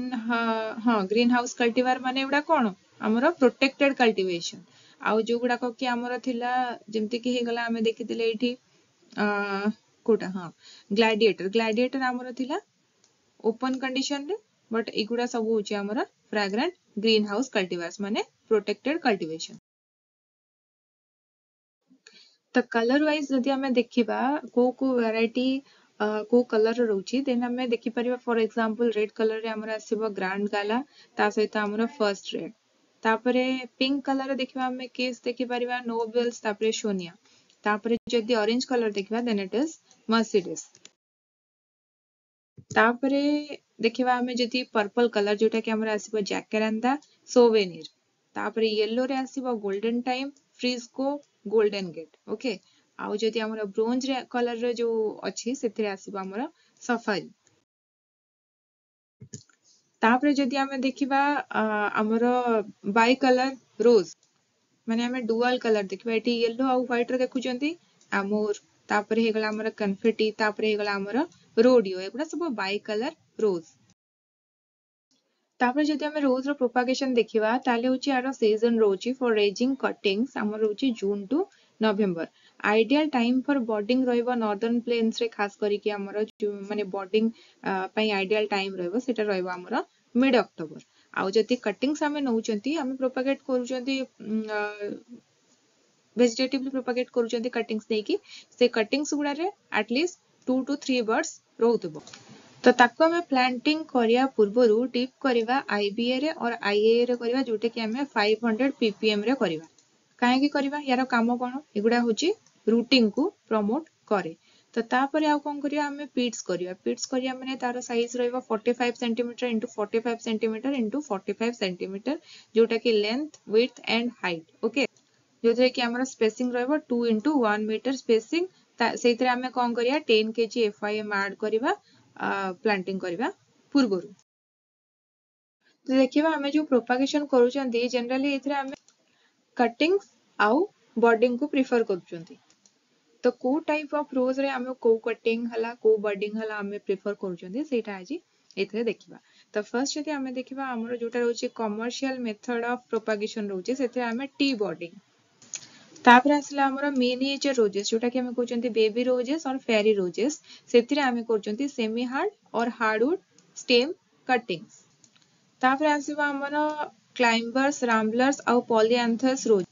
ହଁ, ଗ୍ରୀନ ହାଉସ କଲ୍ଟିଭାର ମାନେ ଏଗୁଡ଼ା କଣ ଆମର ପ୍ରୋଟେକ୍ଟେଡ କଲ୍ଟିଭେସନ। ଆଉ ଯୋଉଗୁଡାକ କି ଆମର ଥିଲା, ଯେମିତି କି ହେଇଗଲା ଆମେ ଦେଖିଥିଲେ ଏଇଠି କୋଉଟା, ହଁ, ଗ୍ଲାଡିଏଟର। ଗ୍ଲାଡିଏଟର ଆମର ଥିଲା ଓପନ କଣ୍ଡିସନରେ, ବଟ୍ ଏଗୁଡ଼ା ସବୁ ହଉଛି ଆମର ଫ୍ରାଗ୍ରାଣ୍ଟ ଗ୍ରୀନ ହାଉସ କଲ୍ଟିଭାର୍ସ, ମାନେ ପ୍ରୋଟେକ୍ଟେଡ କଲ୍ଟିଭେସନ। ତ କଲର ୱାଇଜ ଯଦି ଆମେ ଦେଖିବା କୋଉ କୋଉ ଭେରାଇଟି କୋଉ କଲର ରହୁଛି, ଦେନ୍ ଆମେ ଦେଖିପାରିବା ଫର ଏକ୍ସାମ୍ପଲ ରେଡ୍ କଲରରେ ଆମର ଆସିବ ଗ୍ରାଣ୍ଡ ଗାଲା, ତା ସହିତ ଆମର ଫର୍ଷ୍ଟ ରେଡ୍। ତାପରେ ପିଙ୍କ କଲର ଦେଖିବା ଆମେ କେସ୍ ଦେଖିପାରିବା ନୋବେଲ୍ସ, ତାପରେ ସୋନିଆ। ତାପରେ ଯଦି ଅରେଞ୍ଜ କଲର ଦେଖିବା, ଦେନ୍ ଇଟ୍ is Mercedes. ତାପରେ ଦେଖିବା ଆମେ ଯଦି ପର୍ପଲ କଲର, ଯୋଉଟା କି ଆମର ଆସିବ ଜାକେରାନ୍ଦା, ସୋଭେନିର। ତାପରେ ୟେଲୋ ରେ ଆସିବ golden time, Frisco, golden gate. Okay, ଆଉ ଯଦି ଆମର ବ୍ରୋଞ୍ଜ କଲର ଯୋଉ ଅଛି, ସେଥିରେ ଆସିବ ଆମର ସଫାରି। ତାପରେ ଯଦି ଆମେ ଦେଖିବା ଆମର ବାଇ କଲର ରୋଜ, ମାନେ ଆମେ ଡୁଆଲ କଲର ଦେଖିବା, ଏଠି ୟେଲୋ ଆଉ ହ୍ୱାଇଟ ର ଦେଖୁଛନ୍ତି ଆମୋର, ତାପରେ ହେଇଗଲା ଆମର କନଫେଟି, ତାପରେ ହେଇଗଲା ଆମର ରୋଡିଓ, ଏଗୁଡ଼ା ସବୁ ବାଇ କଲର ରୋଜ। ତାପରେ ଯଦି ଆମେ ରୋଜ ର ପ୍ରୋପାଗେସନ ଦେଖିବା, ତାହେଲେ ହଉଛି ଆର ସିଜନ ରହୁଛି ଫର ରେଜିଂ କଟିଂସ ଆମର ରହୁଛି June to November. Ideal time for budding ରହିବ ନର୍ଦର୍ନ ପ୍ଲେନ୍ସରେ, ଖାସ କରିକି ଆମର ମାନେ ବଡିଂ ପାଇଁ ଆଇଡିଆଲ ଟାଇମ୍ ରହିବ, ସେଇଟା ରହିବ ଆମର ମିଡ୍ ଅକ୍ଟୋବର। ଆଉ ଯଦି କଟିଂସ୍ ଆମେ ନେଉଛନ୍ତି, ଆମେ ପ୍ରୋପାଗେଟ୍ କରୁଛନ୍ତି, ଭେଜିଟେଟିଭଲି ପ୍ରୋପାଗେଟ୍ କରୁଛନ୍ତି କଟିଂସ୍ ନେଇକି, ସେ କଟିଂସ୍ ଗୁଡ଼ାରେ ଆଟଲିଷ୍ଟ 2 ଟୁ 3 ବଡ୍ସ ରହୁଥିବ। ତ ତାକୁ ଆମେ ପ୍ଲାଣ୍ଟିଂ କରିବା ପୂର୍ବରୁ ଡିପ୍ କରିବା ଆଇବିଏ ରେ ଅର୍ ଆଇଏଏ ରେ କରିବା, ଯୋଉଟା କି ଆମେ 500 ppm ରେ କରିବା। କାହିଁକି କରିବା, ୟାର କାମ କଣ? ଏଗୁଡ଼ା ହଉଛି ରୁଟିଂ କୁ ପ୍ରମୋଟ କରେ। ତ ତାପରେ ଆଉ କଣ କରିବା? ଆମେ ପିଟ୍ସ କରିବା। ପିଟ୍ସ କରିବା ମାନେ ତାର ସାଇଜ ରହିବ 45 centimeter into 45 centimeter into 45 centimeter, ଯୋଉଟା କି length, width and height, okay? ଯୋଉଥିରେ କି ଆମର ସ୍ପେସିଂ ରହିବ 2 into 1 meter spacing। ସେଇଥିରେ ଆମେ କଣ କରିବା? 10 kg FYM add କରିବା ପ୍ଲାଣ୍ଟିଂ କରିବା ପୂର୍ବରୁ। ତ ଦେଖିବା, ଆମେ ଯୋଉ ପ୍ରୋପାଗେସନ କରୁଛନ୍ତି, ଜେନେରାଲି ଏଥିରେ ଆମେ କଟିଂସ୍ ଆଉ ବଡିଂ କୁ ପ୍ରିଫର କରୁଛନ୍ତି। ତ କୋଉ ଟାଇପ ଅଫ ରୋଜ ରେ ଆମେ କୋଉ କଟିଂ ହେଲା, କୋଉ ବଡିଂ ହେଲା ଆମେ ପ୍ରିଫର କରୁଛନ୍ତି, ସେଇଟା ଆଜି ଏଥିରେ ଦେଖିବା। ତ ଫାର୍ଷ୍ଟ ଯଦି ଆମେ ଦେଖିବା, ଆମର ଯୋଉଟା ରହୁଛି କମର୍ସିଆଲ ମେଥଡ ଅଫ ପ୍ରୋପାଗେସନ ରହୁଛି, ସେଥିରେ ଆମେ ଟି ବଡିଂ। ତାପରେ ଆସିଲା ଆମର ମିନିଏଚର ରୋଜେସ୍, ଯୋଉଟା କି ଆମେ କହୁଛନ୍ତି ବେବି ରୋଜେସ୍ ଅର୍ ଫେରି ରୋଜେସ୍, ସେଥିରେ ଆମେ କରୁଛନ୍ତି semi hard or hardwood stem cuttings। ତାପରେ ଆସିବ ଆମର କ୍ଲାଇମ୍ବର୍ସ, ରାମ୍ବଲର୍ସ ଆଉ ପଲିଆନ୍ଥସ୍ ରୋଜ,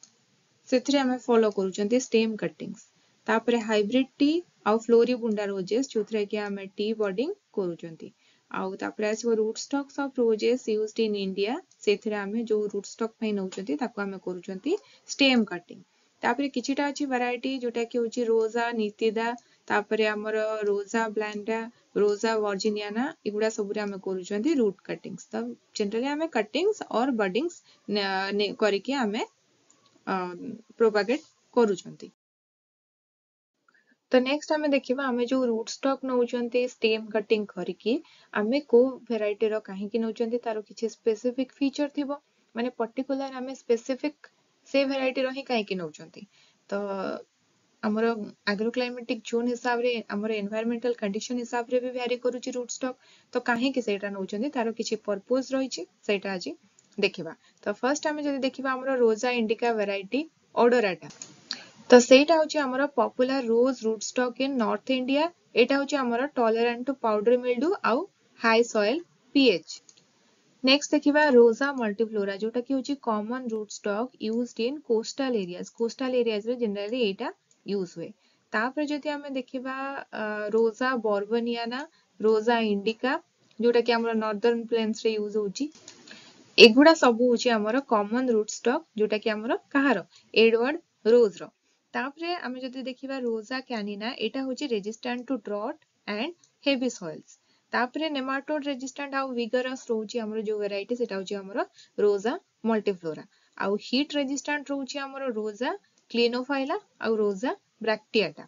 ସେଥିରେ ଆମେ ଫଲୋ କରୁଛନ୍ତି ଷ୍ଟେମ୍ କଟିଂସ୍। ତାପରେ ହାଇବ୍ରିଡ ଟି ଆଉ ଫ୍ଲୋରିବୁଣ୍ଡା ରୋଜେସ୍, ଯୋଉଥିରେ କି ଆମେ ଟି ବଡିଂ କରୁଛନ୍ତି। ଆଉ ତାପରେ ଆସିବ root stocks of roses used in India, ସେଥିରେ ଆମେ ଯୋଉ ରୁଟ୍ ଷ୍ଟକ୍ ପାଇଁ ନେଉଛନ୍ତି, ତାକୁ ଆମେ କରୁଛନ୍ତି ଷ୍ଟେମ୍ କଟିଂ। ତାପରେ କିଛିଟା ଅଛି ଭେରାଇଟି, ଯୋଉଟା କି ହଉଛି ରୋଜା ନିତିଦା, ତାପରେ ଆମର ରୋଜା ବ୍ଲାଣ୍ଡା, ରୋଜା ଭର୍ଜିନିଆନା, ଏଗୁଡ଼ା ସବୁରେ ଆମେ କରୁଛନ୍ତି ରୁଟ୍ କଟିଂସ୍। ତ ଜେନେରାଲି ଆମେ କଟିଂସ୍ ଅର୍ ବଡିଂସ୍ କରିକି ଆମେ ପ୍ରୋପାଗେଟ୍ କରୁଛନ୍ତି। ତ ନେକ୍ସଟ ଆମେ ଦେଖିବା, ଆମେ ଯୋଉ ରୁଟ୍ ଷ୍ଟକ୍ ନଉଛନ୍ତି ଷ୍ଟେମ୍ କଟିଂ କରିକି, ଆମେ କୋଉ ଭେରାଇଟିର କାହିଁକି ନଉଛନ୍ତି? ତାର କିଛି ସ୍ପେସିଫିକ ଫିଚର ଥିବ, ମାନେ ପର୍ଟିକୁଲାର ଆମେ ସ୍ପେସିଫିକ ସେ ଭେରାଇଟିର ହିଁ କାହିଁକି ନଉଛନ୍ତି? ତ ଆମର ଆଗ୍ରୋକ୍ଲାଇମେଟିକ ଜୋନ୍ ହିସାବରେ, ଆମର ଏନଭାୟରମେଣ୍ଟାଲ କଣ୍ଡିସନ ହିସାବରେ ବି ଭ୍ୟାରି କରୁଛି ରୁଟ୍ ଷ୍ଟକ୍। ତ କାହିଁକି ସେଇଟା ନଉଛନ୍ତି, ତାର କିଛି ପର୍ପୋଜ ରହିଛି, ସେଇଟା ଆଜି ଦେଖିବା। ତ ଫାର୍ଷ୍ଟ ଆମେ ଯଦି ଦେଖିବା ଆମର ରୋଜା ଇଣ୍ଡିକା ଭେରାଇଟି ଅଡୋରାଟା, ତ ସେଇଟା ହଉଛି ଆମର popular rose root stock in North India। ଏଇଟା ହଉଛି ଆମର ଟଲରାଣ୍ଟ ଟୁ ପାଉଡର ମିଲ୍ଡୁ ଆଉ ହାଇ ସଏଲ ପିଏଚ୍। ନେକ୍ସଟ ଦେଖିବା ରୋଜା ମଲ୍ଟିଫ୍ଲୋରା, ଯୋଉଟା କି ହଉଛି common root stock used in coastal areas। Coastal ଏରିଆଜରେ generally ଏଇଟା ୟୁଜ ହୁଏ। ତାପରେ ଯଦି ଆମେ ଦେଖିବା ରୋଜା ବର୍ବନିଆନା, ରୋଜା ଇଣ୍ଡିକା, ଯୋଉଟା କି ଆମର ନର୍ଦର୍ନ ପ୍ଲେନ୍ସରେ ୟୁଜ ହଉଛି। ଏଗୁଡ଼ା ସବୁ ହଉଛି ଆମର କମନ ରୁଟ୍ ଷ୍ଟକ୍, ଯୋଉଟା କି ଆମର କାହାର? Edward Roger. ତାପରେ ଆମେ ଯଦି ଦେଖିବା ରୋଜା କ୍ୟାନିନା, ଏଇଟା ହଉଛି resistant to drought and heavy soils। ତାପରେ ନେମାଟୋଡ ରେଜିଷ୍ଟାଣ୍ଟ ଆଉ ଭିଗରସ୍ ରହୁଛି ଆମର ଯୋଉ ଭେରାଇଟି, ସେଟା ହଉଛି ଆମର ରୋଜା ମଲ୍ଟିଫ୍ଲୋରା। ଆଉ ହିଟ୍ ରେଜିଷ୍ଟାଣ୍ଟ ରହୁଛି ଆମର ରୋଜା କ୍ଲିନୋଫାଇଲା ଆଉ ରୋଜା ବ୍ରାକ୍ଟିଆଟା।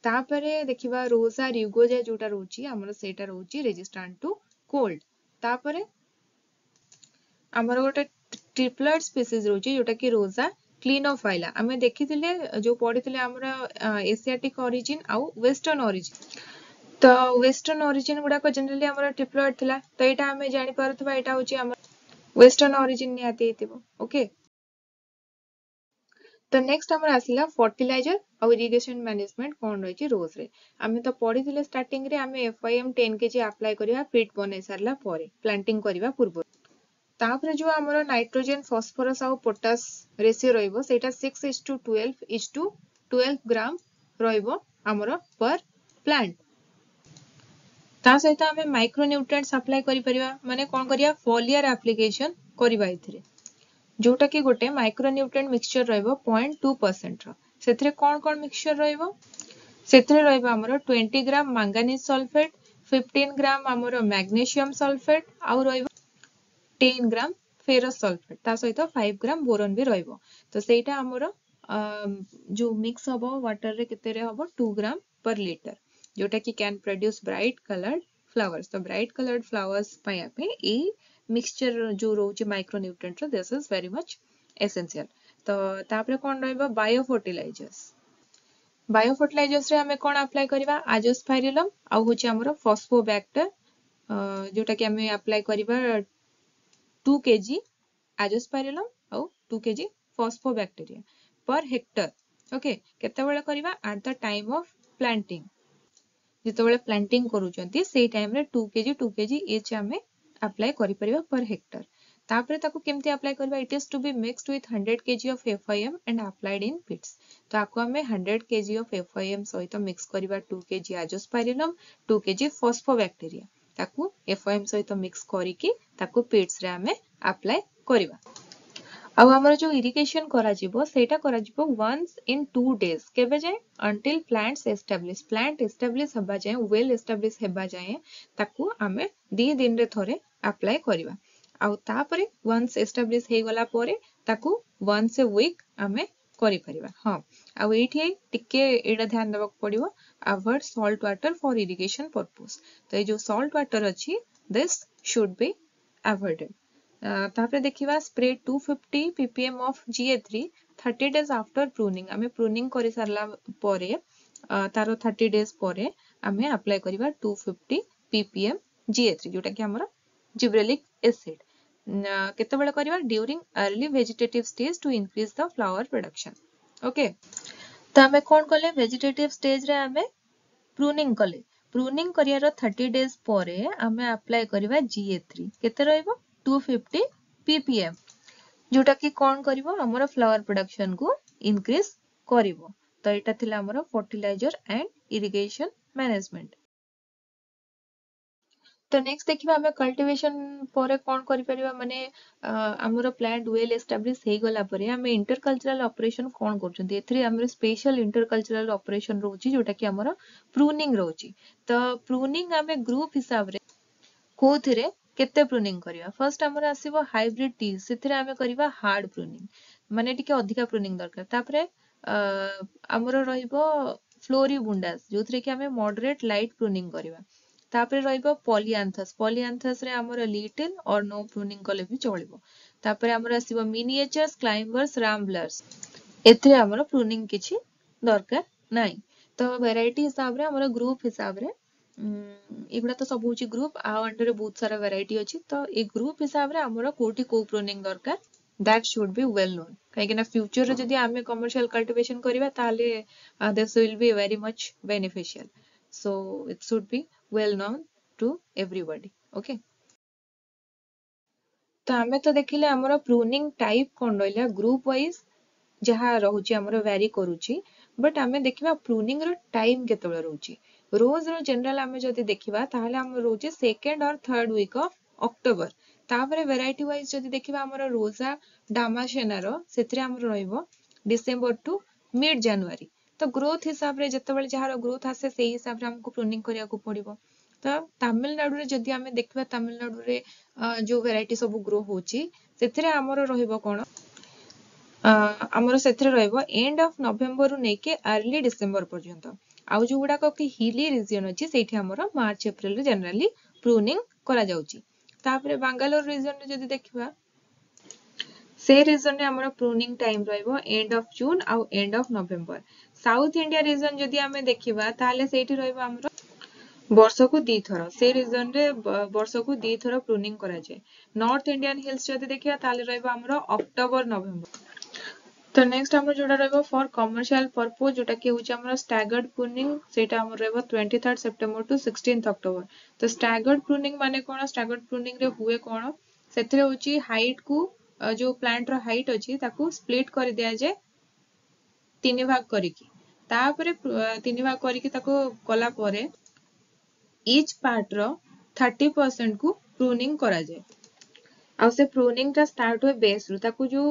ତାପରେ ଦେଖିବା ରୋଜା ରୁଗୋଜା ଯୋଉଟା ରହୁଛି ଆମର, ସେଇଟା ରହୁଛି ରେଜିଷ୍ଟାଣ୍ଟ ଟୁ କୋଲ୍ଡ। ତାପରେ ଆମର ଗୋଟେ ଟ୍ରିପ୍ଲଏଡ ସ୍ପିସିସ୍ ରହୁଛି, ଯୋଉଟା କି ରୋଜା କ୍ଲିନୋଫାଇଲା। ଆମେ ଦେଖିଥିଲେ, ଯୋଉ ପଢିଥିଲେ ଆମର ଏସିଆଟିକ ଅରିଜିନ ଆଉ ୱେଷ୍ଟର୍ଣ୍ଣ ଅରିଜିନ, ତ ୱେଷ୍ଟର୍ଣ୍ଣ ଅରିଜିନ ଗୁଡାକ ଜେନେରାଲି ଆମର ଟ୍ରିପ୍ଲଏଡ ଥିଲା। ତ ଏଇଟା ଆମେ ଜାଣିପାରୁଥିବା, ଏଇଟା ହଉଛି ଆମର ୱେଷ୍ଟର୍ଣ୍ଣ ଅରିଜିନ ନିହାତି ହେଇଥିବ, ଓକେ? ତ ନେକ୍ସଟ ଆମର ଆସିଲା ଫର୍ଟିଲାଇଜର ଆଉ ଇରିଗେସନ ମ୍ୟାନେଜମେଣ୍ଟ କଣ ରହିଛି ରୋଜରେ। ଆମେ ତ ପଢିଥିଲେ ଷ୍ଟାର୍ଟିଂରେ, ଆମେ ଏଫୱାଇଏମ୍ 10 କେଜି ଆପ୍ଲାଏ କରିବା ପିଟ୍ ବନେଇ ସାରିଲା ପରେ, ପ୍ଲାଣ୍ଟିଂ କରିବା ପୂର୍ବରୁ। ତାପରେ ଯୋଉ ଆମର ନାଇଟ୍ରୋଜେନ, ଫସ୍ଫରସ୍ ଆଉ ପୋଟାସ ରେସିଓ ରହିବ, ସେଇଟା 6:12:12 ଗ୍ରାମ ରହିବ ଆମର ପର ପ୍ଲାଣ୍ଟ। ତା ସହିତ ଆମେ ମାଇକ୍ରୋନ୍ୟୁଟ୍ରିଏଣ୍ଟସ ଆପ୍ଲାଏ କରିପାରିବା, ମାନେ କଣ କରିବା? ଫଲିଆର ଆପ୍ଲିକେସନ କରିବା ଏଥିରେ, ଯୋଉଟା କି ଗୋଟେ ମାଇକ୍ରୋନ୍ୟୁଟ୍ରିଏଣ୍ଟ ମିକ୍ସଚର ରହିବ 0.2%ର। ସେଥିରେ କଣ କଣ ମିକ୍ସଚର ରହିବ? ସେଥିରେ ରହିବ ଆମର 20 ଗ୍ରାମ ମାଙ୍ଗାନିଜ ସଲଫେଟ, 15 ଗ୍ରାମ ଆମର ମ୍ୟାଗ୍ନେସିୟମ ସଲଫେଟ ଆଉ ରହିବ 10 ଗ୍ରାମ ଫେରସ୍ ସଲଫେଟ, ତା ସହିତ 5 ଗ୍ରାମ ବୋରନ ବି ରହିବ। ତ ସେଇଟା ଆମର ଯୋଉ ମିକ୍ସ ହବ ୱାଟରରେ, କେତେରେ ହବ? 2 ଗ୍ରାମ ପର ଲିଟର, ଯୋଉଟା କି can produce bright colored flowers। ତ ବ୍ରାଇଟ୍ କଲର୍ଡ ଫ୍ଲାୱାର୍ସ ପାଇବା ପାଇଁ ଏଇ ମିକ୍ସଚର ଯୋଉ ରହୁଛି ମାଇକ୍ରୋନ୍ୟୁଟ୍ରିଏଣ୍ଟର, this is very much essential। ତ ତାପରେ କଣ ରହିବ? Bio fertilizers. ବାୟୋ ଫର୍ଟିଲାଇଜର୍ସରେ ଆମେ କଣ ଆପ୍ଲାଏ କରିବା? ଆଜୋସ୍ପାଇରିଲମ୍ ଆଉ ହଉଛି ଆମର ଫସ୍ଫୋବ୍ୟାକ୍ଟର, ଯୋଉଟା କି ଆମେ ଆପ୍ଲାଏ କରିବା 2 କେଜି ଆଜୋସ୍ପାଇରିଲମ୍ ଆଉ 2 କେଜି ଫସ୍ଫୋବ୍ୟାକ୍ଟେରିଆ ପର ହେକ୍ଟର। ଓକେ, କେତେବେଳେ କରିବା? At the time of planting. ଯେତେବେଳେ ପ୍ଲାଣ୍ଟିଂ କରୁଛନ୍ତି ସେଇ ଟାଇମରେ 2 kg, 2 kg each ଆମେ ଆପ୍ଲାଏ କରିପାରିବା ପର ହେକ୍ଟର। ତାପରେ ତାକୁ କେମିତି ଆପ୍ଲାଏ କରିବା? It is to be mixed with 100 kg of FYM and applied in pits. ତ ଆକୁ ଆମେ 100 kg of FYM ସହିତ ମିକ୍ସ କରିବା, 2 kg Azospirillum, 2 kg phosphobacteria। ତାକୁ ଏଫ୍ୱାଇଏମ୍ ସହିତ ମିକ୍ସ କରିକି ତାକୁ ପିଟ୍ସରେ ଆମେ ଆପ୍ଲାଏ କରିବା। ଆଉ ଆମର ଯୋଉ ଇରିଗେସନ କରାଯିବ, ସେଇଟା କରାଯିବ ୱାନ୍ସ ଇନ୍ 2 ଡେଜ୍। କେବେ ଯାଏଁ? Until plants establish. Plant establish ହେବା ଯାଏଁ, ୱେଲ୍ ଏଷ୍ଟାବ୍ଲିଶ ହେବା ଯାଏଁ ତାକୁ ଆମେ 2 ଦିନରେ ଥରେ ଆପ୍ଲାଏ କରିବା। ଆଉ ତାପରେ ୱାନ୍ସ ଏଷ୍ଟାବ୍ଲିଶ ହେଇଗଲା ପରେ ତାକୁ ୱାନ୍ସ ଏ ୱିକ୍ ଆମେ କରିପାରିବା। ହଁ, ଆଉ ଏଇଠି ଟିକେ ଏଇଟା ଧ୍ୟାନ ଦେବାକୁ ପଡିବ, avoid salt water for irrigation purpose. ତ ଏଇ ଯୋଉ ସଲ୍ଟ ୱାଟର ଅଛି, this should be avoided. ତାପରେ ଦେଖିବା, spray 250 ppm of GA3 30 days after pruning. ଆମେ ପ୍ରୁନିଂ କରିସାରିଲା ପରେ ତାର 30 ଡେଜ୍ ପରେ ଆମେ ଆପ୍ଲାଏ କରିବା 250 ppm GA3, ଯୋଉଟା କି ଆମର ଜିବ୍ରେଲିକ୍ ଏସିଡ୍। କେତେବେଳେ କରିବା? During early vegetative stage to increase the flower production. Okay, ତ ଆମେ କଣ କଲେ? ଭେଜିଟେଟିଭ ଷ୍ଟେଜରେ ଆମେ ପ୍ରୁନିଂ କଲେ। ପ୍ରୁନିଂ କରିବାର 30 ଡେଜ୍ ପରେ ଆମେ ଆପ୍ଲାଏ କରିବା ଜିଏ3। କେତେ ରହିବ? 250 ppm, ଯୋଉଟା କି କଣ କରିବ? ଆମର ଫ୍ଲାୱାର ପ୍ରଡକ୍ସନକୁ ଇନକ୍ରିଜ କରିବ। ତ ଏଇଟା ଥିଲା ଆମର ଫର୍ଟିଲାଇଜର ଆଣ୍ଡ ଇରିଗେସନ ମ୍ୟାନେଜମେଣ୍ଟ। ତ ନେକ୍ସଟ ଦେଖିବା, ଆମେ କଲ୍ଟିଭେସନ ପରେ କଣ କରିପାରିବା। ମାନେ ଆମର ପ୍ଲାଣ୍ଟ ୱେଲ୍ ଏଷ୍ଟାବ୍ଲିଶ ହେଇଗଲା ପରେ ଆମେ ଇଣ୍ଟରକଲଚରାଲ ଅପରେସନ କଣ କରୁଛନ୍ତି। ଏଥିରେ ଆମର ସ୍ପେଶାଲ ଇଣ୍ଟରକଲଚରାଲ ଅପରେସନ ରହୁଛି, ଯୋଉଟା କି ଆମର ପ୍ରୁନିଂ ରହୁଛି। ତ ପ୍ରୁନିଂ ଆମେ ଗ୍ରୁପ ହିସାବରେ କୋଉଥିରେ କେତେ ପ୍ରୁନିଂ କରିବା? ଫର୍ଷ୍ଟ ଆମର ଆସିବ ହାଇବ୍ରିଡ ଟି, ସେଥିରେ ଆମେ କରିବା ହାର୍ଡ ପ୍ରୁନିଂ, ମାନେ ଟିକେ ଅଧିକା ପ୍ରୁନିଂ ଦରକାର। ତାପରେ ଆମର ରହିବ ଫ୍ଲୋରିବୁଣ୍ଡାସ, ଯୋଉଥିରେ କି ଆମେ ମଡରେଟ ଲାଇଟ ପ୍ରୁନିଂ କରିବା। ତାପରେ ରହିବ ପଲିଆନ୍ଥସ୍। ପଲିଆନ୍ଥସ୍ ରେ ଆମର ଲିଟିଲ ଅର ନୋ ପ୍ରୁନିଂ କଲେ ବି ଚଳିବ। ତାପରେ ଆମର ଆସିବ ମିନିଏଚର୍ସ, କ୍ଲାଇମ୍ବର୍ସ, ରାମ୍ବଲର୍ସ, ଏଥିରେ ଆମର ପ୍ରୁନିଂ କିଛି ଦରକାର ନାହିଁ। ତ ଭେରାଇଟି ହିସାବରେ, ଆମର ଗ୍ରୁପ ହିସାବରେ, ଏଗୁଡ଼ା ତ ସବୁ ହଉଛି ଗ୍ରୁପ, ଆଉ ଅଣ୍ଡରରେ ବହୁତ ସାରା ଭେରାଇଟି ଅଛି। ତ ଏଇ ଗ୍ରୁପ ହିସାବରେ ଆମର କୋଉଠି କୋଉ ପ୍ରୁନିଂ ଦରକାର, that should be well known, କାହିଁକି ନା ଫ୍ୟୁଚରରେ ଯଦି ଆମେ କମର୍ସିଆଲ କଲ୍ଟିଭେସନ କରିବା, ତାହେଲେ this will be very much beneficial. So it should be well known to everybody. Okay, ତ ଆମେ ତ ଦେଖିଲେ ଆମର ପ୍ରୁନିଂ ଟାଇପ କଣ ରହିଲା, ଗ୍ରୁପ ୱାଇଜ ଯାହା ରହୁଛି ଆମର ଭ୍ୟାରି କରୁଛି। ବଟ୍ ଆମେ ଦେଖିବା ପ୍ରୁନିଂ ର ଟାଇମ କେତେବେଳେ ରହୁଛି। ରୋଜ ର ଜେନେରାଲ ଆମେ ଯଦି ଦେଖିବା, ତାହେଲେ ଆମର ରହୁଛି second or third week of October. ତାପରେ ଭେରାଇଟି ୱାଇଜ ଯଦି ଦେଖିବା ଆମର ରୋଜା ଡାମାସେନାର, ସେଥିରେ ଆମର ରହିବ ଡିସେମ୍ବର ଟୁ ମିଡ୍ ଜାନୁଆରୀ। ତ ଗ୍ରୋଥ ହିସାବରେ, ଯେତେବେଳେ ଯାହାର ଗ୍ରୋଥ ଆସେ, ସେଇ ହିସାବରେ ଆମକୁ ପ୍ରୁନିଂ କରିବାକୁ ପଡିବ। ତ ତାମିଲନାଡୁରେ ଯଦି ଆମେ ଦେଖିବା, ତାମିଲନାଡୁରେ ଯୋଉ ଭେରାଇଟି ସବୁ ଗ୍ରୋ ହଉଛି, ସେଥିରେ ଆମର ରହିବ କଣ? ଆମର ସେଥିରେ ରହିବ ଏଣ୍ଡ ଅଫ ନଭେମ୍ବରରୁ ନେଇକି ଆର୍ଲି ଡିସେମ୍ବର ପର୍ଯ୍ୟନ୍ତ। ଆଉ ଯୋଉଗୁଡାକ କି ହିଲି ରିଜିଅନ ଅଛି, ସେଇଠି ଆମର ମାର୍ଚ୍ଚ ଏପ୍ରିଲରେ ଜେନେରାଲି ପ୍ରୁନିଂ କରାଯାଉଛି। ତାପରେ ବାଙ୍ଗାଲୋର ରିଜନରେ ଯଦି ଦେଖିବା, ସେ ରିଜନରେ ଆମର ପ୍ରୁନିଂ ଟାଇମ ରହିବ ଏଣ୍ଡ ଅଫ ଜୁନ୍ ଆଉ end of November. South India region ଯଦି ଆମେ ଦେଖିବା, ତାହେଲେ ସେଇଠି ରହିବ ଆମର ବର୍ଷକୁ ଦିଥର। ସେ ରିଜନରେ ବର୍ଷକୁ ଦିଥର ପ୍ରୁନିଂ କରାଯାଏ। ନର୍ଥ ଇଣ୍ଡିଆନ ହିଲ୍ସ ଯଦି ଦେଖିବା, ତାହେଲେ ରହିବ ଆମର ଅକ୍ଟୋବର ନଭେମ୍ବର। ତ ନେକ୍ସଟ ଆମର ଯୋଉଟା ରହିବ ଫର କମର୍ସିଆଲ ପର୍ପୋଜ, ଯୋଉଟା କି ହଉଛି ଆମର ଷ୍ଟାଗର୍ଡ ପ୍ରୁନିଂ, ସେଇଟା ଆମର ରହିବ 23rd September to 16th October। ତ ଷ୍ଟାଗର୍ଡ ପ୍ରୁନିଂ ମାନେ କଣ? ଷ୍ଟାଗର୍ଡ ପ୍ରୁନିଂ ରେ ହୁଏ କଣ? ସେଥିରେ ହଉଛି ହାଇଟ କୁ, ଯୋଉ ପ୍ଲାଣ୍ଟ ର ହାଇଟ ଅଛି, ତାକୁ ସ୍ପ୍ଲିଟ କରିଦିଆଯାଏ ତିନି ଭାଗ କରିକି। ତାପରେ ତିନି ଭାଗ କରିକି ତାକୁ କଲା ପରେ ଇଚ୍ ପାର୍ଟ ର 30% କୁ ପ୍ରୁନିଂ କରାଯାଏ। ଆଉ ସେ ପ୍ରୁନିଂ ଟା ଷ୍ଟାର୍ଟ ହୁଏ ବେସ୍ ରୁ। ତାକୁ ଯୋଉ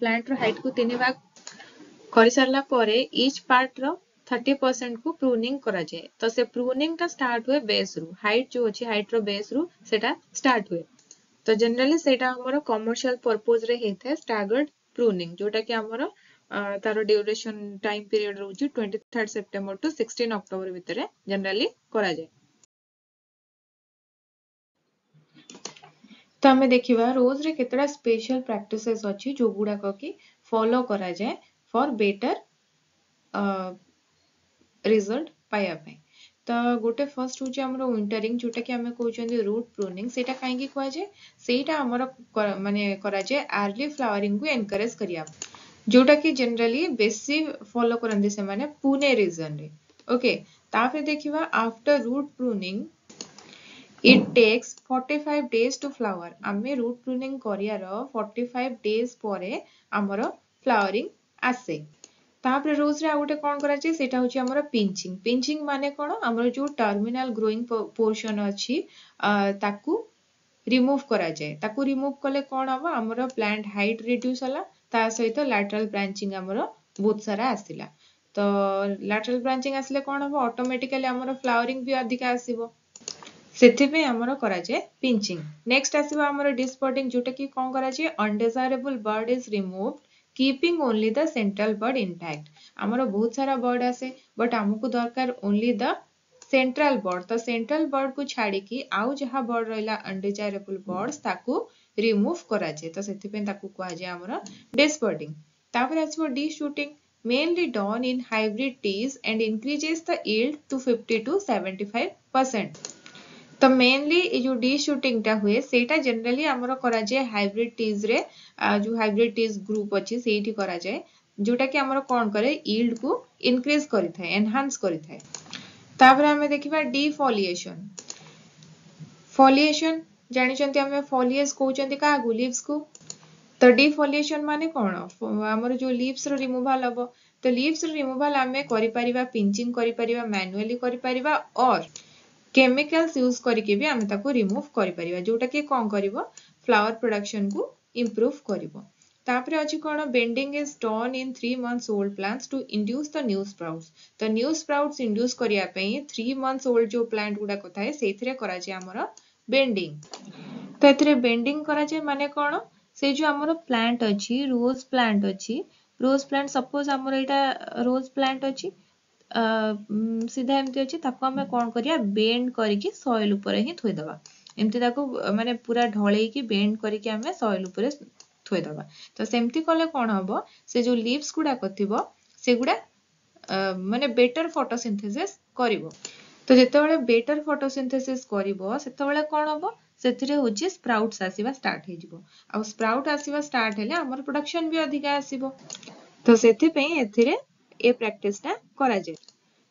ପ୍ଲାଣ୍ଟ ର ହାଇଟ କୁ ତିନି ଭାଗ କରିସାରିଲା ପରେ ଇଚ୍ ପାର୍ଟ ର 30% କୁ ପ୍ରୁନିଂ କରାଯାଏ। ତ ସେ ପ୍ରୁନିଂ ଟା ଷ୍ଟାର୍ଟ ହୁଏ ବେସ୍ ରୁ, ହାଇଟ ଯୋଉ ଅଛି, ହାଇଟ ର ବେସ୍ ରୁ ସେଟା ଷ୍ଟାର୍ଟ ହୁଏ। ତ ଜେନେରାଲି ସେଇଟା ଆମର କମର୍ସିଆଲ ପର୍ପୋଜ ରେ ହେଇଥାଏ, ଷ୍ଟାଗର୍ଡ ପ୍ରୁନିଂ, ଯୋଉଟା କି ଆମର ତାର ଡ୍ୟୁରେସନ ଟାଇମ ପିରିୟଡ ରହୁଛି 23rd September to 16 October ଭିତରେ ଜେନେରାଲି କରାଯାଏ। ତ ଆମେ ଦେଖିବା ରୋଜରେ କେତେଟା ସ୍ପେଶାଲ ପ୍ରାକ୍ଟିସେସ୍ ଅଛି, ଯୋଉଗୁଡାକ କି ଫଲୋ କରାଯାଏ ଫର ବେଟର ରିଜଲ୍ଟ ପାଇବା ପାଇଁ। ତ ଗୋଟେ ଫର୍ଷ୍ଟ ହଉଛି ଆମର ୱିଣ୍ଟରିଂ, ଯୋଉଟା କି ଆମେ କହୁଛନ୍ତି ରୁଟ୍ ପ୍ରୁନିଂ। ସେଇଟା କାହିଁକି କୁହାଯାଏ? ସେଇଟା ଆମର ମାନେ କରାଯାଏ ଆର୍ଲି ଫ୍ଲାୱାରିଂ କୁ ଏନକରେଜ କରିବା। ଯୋଉଟା କି ଜେନେରାଲି ବେଶୀ ଫଲୋ କରନ୍ତି ସେମାନେ ପୁନେ ରିଜନରେ। ଓକେ, ତାପରେ ଦେଖିବା after root pruning, it takes 45 days to flower. ଆମେ ରୁଟ୍ ପ୍ରୁନିଂ କରିବାର 45 ଡେଜ୍ ପରେ ଆମର ଫ୍ଲାୱାରିଂ ଆସେ। ତାପରେ ରୋଜରେ ଆଉ ଗୋଟେ କ'ଣ କରାଯାଏ? ସେଇଟା ହଉଛି ଆମର ପିଞ୍ଚିଂ। ପିଞ୍ଚିଂ ମାନେ କ'ଣ? ଆମର ଯୋଉ ଟର୍ମିନାଲ ଗ୍ରୋଇଂ ପୋର୍ସନ ଅଛି, ତାକୁ ରିମୁଭ୍ କରାଯାଏ। ତାକୁ ରିମୁଭ୍ କଲେ କ'ଣ ହବ? ଆମର ପ୍ଲାଣ୍ଟ ହାଇଟ୍ ରିଡ୍ୟୁସ୍ ହେଲା, ତା ସହିତ ଲାଟରାଲ ବ୍ରାଞ୍ଚିଂ ଆମର ବହୁତ ସାରା ଆସିଲା। ତ ଲାଟରାଲ ବ୍ରାଞ୍ଚିଂ ଆସିଲେ କ'ଣ ହବ? ଅଟୋମେଟିକାଲି ଆମର ଫ୍ଲାୱାରିଂ ବି ଅଧିକା ଆସିବ। ସେଥିପାଇଁ ଆମର କରାଯାଏ ପିଞ୍ଚିଂ। ନେକ୍ସଟ ଆସିବ ଆମର ଡିସବଡିଂ, ଯୋଉଟା କି କ'ଣ କରାଯାଏ? ଅନଡିଜାୟାରେବଲ ବଡ୍ is remove, keeping only the central bud intact. ଆମର ବହୁତ ସାରା ବଡ୍ ଆସେ, ବଟ୍ ଆମକୁ ଦରକାର ଓନ୍ଲି ଦ ସେଣ୍ଟ୍ରାଲ ବଡ୍। ତ ସେଣ୍ଟ୍ରାଲ ବଡ୍ କୁ ଛାଡ଼ିକି ଆଉ ଯାହା ବଡ୍ ରହିଲା, ଅନଡିଜାୟାରେବଲ ବଡ୍ସ, ତାକୁ ରିମୁଭ୍ କରାଯାଏ। ତ ସେଥିପାଇଁ ତାକୁ କୁହାଯାଏ ଆମର ଡିସବଡିଂ। ତାପରେ ଆସିବ D shooting, mainly done in hybrid teas and increases the yield to 50 to 75%. ତ ମେନଲି ଏ ଯୋଉ ଡି ସୁଟିଂଟା ହୁଏ, ସେଇଟା ଜେନେରାଲି ଆମର କରାଯାଏ ହାଇବ୍ରିଡ ଟିଜରେ। ଯୋଉ ହାଇବ୍ରିଡ ଟିଜ୍ ଗ୍ରୁପ ଅଛି, ସେଇଠି କରାଯାଏ, ଯୋଉଟା କି ଆମର କ'ଣ କରେ? କୁ ଇନକ୍ରିଜ କରିଥାଏ, ଏନହାନ୍ସ କରିଥାଏ। ତାପରେ ଆମେ ଦେଖିବା ଡିଫଲିଏସନ। ଫଲିଏସନ ଜାଣିଛନ୍ତି ଆମେ, ଫଲିଏଜ କହୁଛନ୍ତି କାହାକୁ? ଲିଭ୍ସକୁ। ତ ଡିଫଲିଏସନ ମାନେ କ'ଣ? ଆମର ଯୋଉ ଲିଭ୍ସର ରିମୁଭାଲ ହବ। ତ ଲିଭ୍ସର ରିମୁଭାଲ ଆମେ କରିପାରିବା, ପିଞ୍ଚିଂ କରିପାରିବା, ମ୍ୟାନୁଆଲି କରିପାରିବା, ଅର୍ କେମିକାଲ୍ସ ୟୁଜ କରିକି ବି ଆମେ ତାକୁ ରିମୁଭ୍ କରିପାରିବା, ଯୋଉଟା କି କ'ଣ କରିବ? ଫ୍ଲାୱାର ପ୍ରଡକ୍ସନକୁ ଇମ୍ପ୍ରୁଭ କରିବ। ତାପରେ ଅଛି କ'ଣ? Bending is done in 3 months old plants to induce the new sprouts. ତ ନ୍ୟୁ ସ୍ପ୍ରାଉଟ୍ସ ଇଣ୍ଡ୍ୟୁସ୍ କରିବା ପାଇଁ 3 ମନ୍ଥସ୍ ଓଲ୍ଡ ଯୋଉ ପ୍ଲାଣ୍ଟ ଗୁଡାକ ଥାଏ, ସେଇଥିରେ କରାଯାଏ ଆମର ବେଣ୍ଡିଂ। ତ ଏଥିରେ ବେଣ୍ଡିଂ କରାଯାଏ ମାନେ କ'ଣ? ସେଇ ଯୋଉ ଆମର ପ୍ଲାଣ୍ଟ ଅଛି, ରୋଜ ପ୍ଲାଣ୍ଟ ଅଛି, ରୋଜ ପ୍ଲାଣ୍ଟ, ସପୋଜ ଆମର ଏଇଟା ରୋଜ ପ୍ଲାଣ୍ଟ ଅଛି, ସିଧା ଏମିତି ଅଛି, ତାକୁ ଆମେ କ'ଣ କରିବା? ବେଣ୍ଡ କରିକି ସଏଲ ଉପରେ ହିଁ ଥୋଇଦବା। ଏମିତି ତାକୁ ମାନେ ପୁରା ଢଳେଇକି ବେଣ୍ଡ କରିକି ଆମେ ସଏଲ ଉପରେ ଥୋଇଦବା। ତ ସେମିତି କଲେ କ'ଣ ହବ? ସେ ଯୋଉ ଲିଭ୍ସ ଗୁଡାକ ଥିବ, ସେଗୁଡା ମାନେ ବେଟର ଫଟୋସିନ୍ଥେସିସ୍ କରିବ। ତ ଯେତେବେଳେ ବେଟର ଫଟୋସିନ୍ଥେସିସ୍ କରିବ, ସେତେବେଳେ କ'ଣ ହବ? ସେଥିରେ ହଉଛି ସ୍ପ୍ରାଉଟ୍ସ ଆସିବା ଷ୍ଟାର୍ଟ ହେଇଯିବ। ଆଉ ସ୍ପ୍ରାଉଟ୍ ଆସିବା ଷ୍ଟାର୍ଟ ହେଲେ ଆମର ପ୍ରଡକ୍ସନ ବି ଅଧିକା ଆସିବ। ତ ସେଥିପାଇଁ ଏଥିରେ ଏ ପ୍ରାକ୍ଟିସଟା କରାଯାଏ।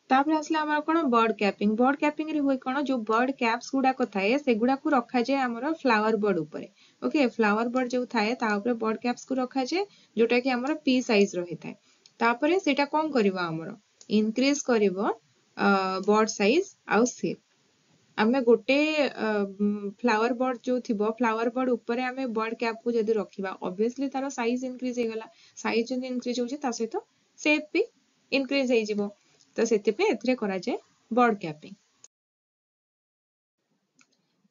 ତାପରେ ଆସିଲା ଆମର କ'ଣ? ବଡ୍ କ୍ୟାପିଂ। ବଡ୍ କ୍ୟାପିଂ ରେ ହୁଏ କ'ଣ? ଯୋଉ ବଡ୍ କ୍ୟାପ୍ସ ଗୁଡାକ ଥାଏ, ସେଗୁଡାକୁ ରଖାଯାଏ ଆମର ଫ୍ଲାୱାର ବଡ୍ ଉପରେ। ଓକେ, ଫ୍ଲାୱାର ବଡ୍ ଯୋଉ ଥାଏ, ତା ଉପରେ ବଡ୍ କ୍ୟାପ୍ସ କୁ ରଖାଯାଏ, ଯୋଉଟା କି ଆମର ପି ସାଇଜ ରହିଥାଏ। ତାପରେ ସେଇଟା କ'ଣ କରିବ? ଆମର ଇନକ୍ରିଜ କରିବ ବଡ୍ ସାଇଜ ଆଉ ସେପ୍। ଆମେ ଗୋଟେ ଫ୍ଲାୱାର ବଡ୍ ଯୋଉ ଥିବ, ଫ୍ଲାୱାର ବଡ୍ ଉପରେ ଆମେ ବଡ୍ କ୍ୟାପ୍ କୁ ଯଦି ରଖିବା, ଅବଭିୟସଲି ତାର ସାଇଜ ଇନକ୍ରିଜ ହେଇଗଲା। ସାଇଜ ଯଦି ଇନକ୍ରିଜ ହଉଛି, ତା ସହିତ ସେପ୍ ବି ଇନକ୍ରିଜ ହେଇଯିବ। ତ ସେଥିପାଇଁ ଏଥିରେ କରାଯାଏ ବଡ୍ କ୍ୟାପିଂ।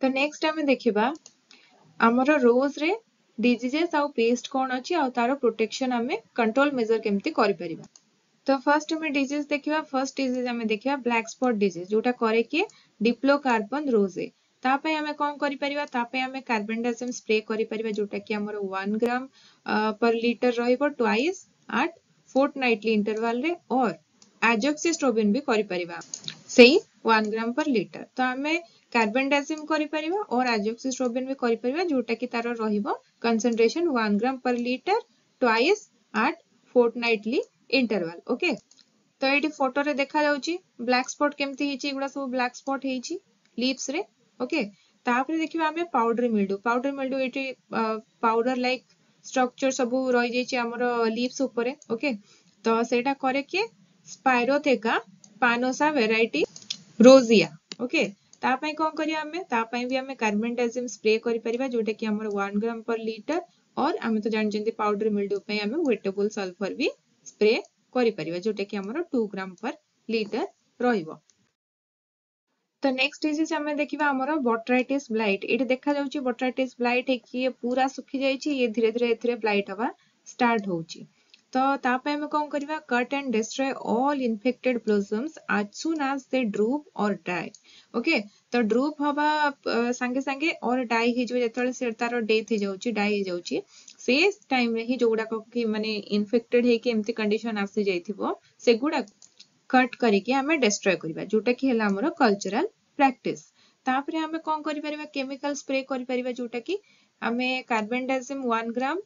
ତ ନେକ୍ସଟ ଆମେ ଦେଖିବା ଆମର ରୋଜରେ ଡିଜିଜେସ୍ ଆଉ ପେଷ୍ଟ କ'ଣ ଅଛି, ଆଉ ତାର ପ୍ରୋଟେକ୍ସନ ଆମେ କଣ୍ଟ୍ରୋଲ ମେଜର କେମିତି କରିପାରିବା। ତ ଫାର୍ଷ୍ଟ ଆମେ ଡିଜିଜ ଦେଖିବା। ଫର୍ଷ୍ଟ ଡିଜିଜ ଆମେ ଦେଖିବା ବ୍ଲାକ୍ ସ୍ପଟ୍ ଡିଜିଜ, ଯୋଉଟା କରେ କିଏ? ଡିପ୍ଲୋକାର୍ବନ ରୋଜେ। ତା ପାଇଁ ଆମେ କ'ଣ କରିପାରିବା? ତା ପାଇଁ ଆମେ କାର୍ବନଡାଜିମ୍ ସ୍ପ୍ରେ କରିପାରିବା, ଯୋଉଟା କି ଆମର 1 ଗ୍ରାମ ପର ଲିଟର ରହିବ, ଟ୍ୱାଇସ୍ ଆଟ୍ ଫୋର୍ଟନାଇଟଲି ଇଣ୍ଟରଭାଲରେ, ଅର୍ ଆଜୋକ୍ସିଷ୍ଟ୍ରୋବିନ୍ ବି କରିପାରିବା ସେଇ 1 ଗ୍ରାମ ପର ଲିଟର। ତ ଆମେ କାର୍ବନଡାଜିମ୍ କରିପାରିବା ଅର୍ ଆଜୋକ୍ସିଷ୍ଟ୍ରୋବିନ୍ ବି କରିପାରିବା, ଯୋଉଟା କି ତାର ରହିବ କନସେନ୍ଟ୍ରେସନ 1 ଗ୍ରାମ per litre, twice at fortnightly interval. Okay, ତ ଏଇଠି ଫଟୋରେ ଦେଖାଯାଉଛି ବ୍ଲାକ୍ ସ୍ପଟ୍ କେମିତି ହେଇଛି। ଏଗୁଡ଼ା ସବୁ ବ୍ଲାକ୍ ସ୍ପଟ୍ ହେଇଛି ଲିଭ୍ସରେ। ଓକେ, ତାପରେ ଦେଖିବା ଆମେ ପାଉଡର ମିଲ୍ଡୁ। ପାଉଡର ମିଲ୍ଡୁ, ଏଇଠି ପାଉଡର ଲାଇକ୍ ଷ୍ଟ୍ରକ୍ଚର ସବୁ ରହିଯାଇଛି ଆମର ଲିଭ୍ସ ଉପରେ। ଓକେ, ତ ସେଇଟା କରେ କିଏ? ସ୍ପାଇରୋଥେକା ପାନୋସା ଭେରାଇଟି ରୋଜିଆ। ଓକେ, ତା ପାଇଁ କ'ଣ କରିବା ଆମେ? ତା ପାଇଁ ବି ଆମେ କାର୍ବନଡାଜିମ୍ ସ୍ପ୍ରେ କରିପାରିବା, ଯୋଉଟା କି ଆମର 1 ଗ୍ରାମ ପର ଲିଟର, ଅର୍ ଆମେ ତ ଜାଣିଛନ୍ତି ପାଉଡର ମିଲ୍ଡୁ ପାଇଁ ଆମେ ୱେଟେବଲ ସଲଫର ବି ସ୍ପ୍ରେ କରିପାରିବା, ଯୋଉଟା କି ଆମର 2 ଗ୍ରାମ ପର ଲିଟର ରହିବ। ତ ନେକ୍ସଟ ଡିଜିଜ ଆମେ ଦେଖିବା ଆମର ବଟ୍ରାଇଟିସ୍ ବ୍ଲାଇଟ୍। ଏଇଠି ଦେଖାଯାଉଛି ବଟ୍ରାଇଟିସ୍ ବ୍ଲାଇଟ୍ ହେଇକି ଇଏ ପୁରା ଶୁଖି ଯାଇଛି। ଇଏ ଧୀରେ ଧୀରେ ଏଥିରେ ବ୍ଲାଇଟ୍ ହବା ଷ୍ଟାର୍ଟ ହଉଛି। ତ ତା ପାଇଁ ଆମେ କ'ଣ କରିବା? Cut and destroy all infected blossoms as soon as they droop or die. Okay, ତ ଡ୍ରୁପ୍ ହବା ସାଙ୍ଗେ ସାଙ୍ଗେ ଅର୍ ଡାଇ ହେଇଯିବ, ଯେତେବେଳେ ସେ ତାର ଡେଥ୍ ହେଇଯାଉଛି, ଡାଇ ହେଇଯାଉଛି, ସେ ଟାଇମରେ ହିଁ ଯୋଉଗୁଡାକ କି ମାନେ ଇନଫେକ୍ଟେଡ ହେଇକି ଏମିତି କଣ୍ଡିସନ ଆସିଯାଇଥିବ, ସେଗୁଡାକ କଟ୍ କରିକି ଆମେ ଡେଷ୍ଟ୍ରୟ କରିବା, ଯୋଉଟା କି ହେଲା ଆମର କଲଚରାଲ ପ୍ରାକ୍ଟିସ। ତାପରେ ଆମେ କ'ଣ କରିପାରିବା? କେମିକାଲ ସ୍ପ୍ରେ କରିପାରିବା, ଯୋଉଟା କି ଆମେ କାର୍ବନଡାଜିମ୍ 1 ଗ୍ରାମ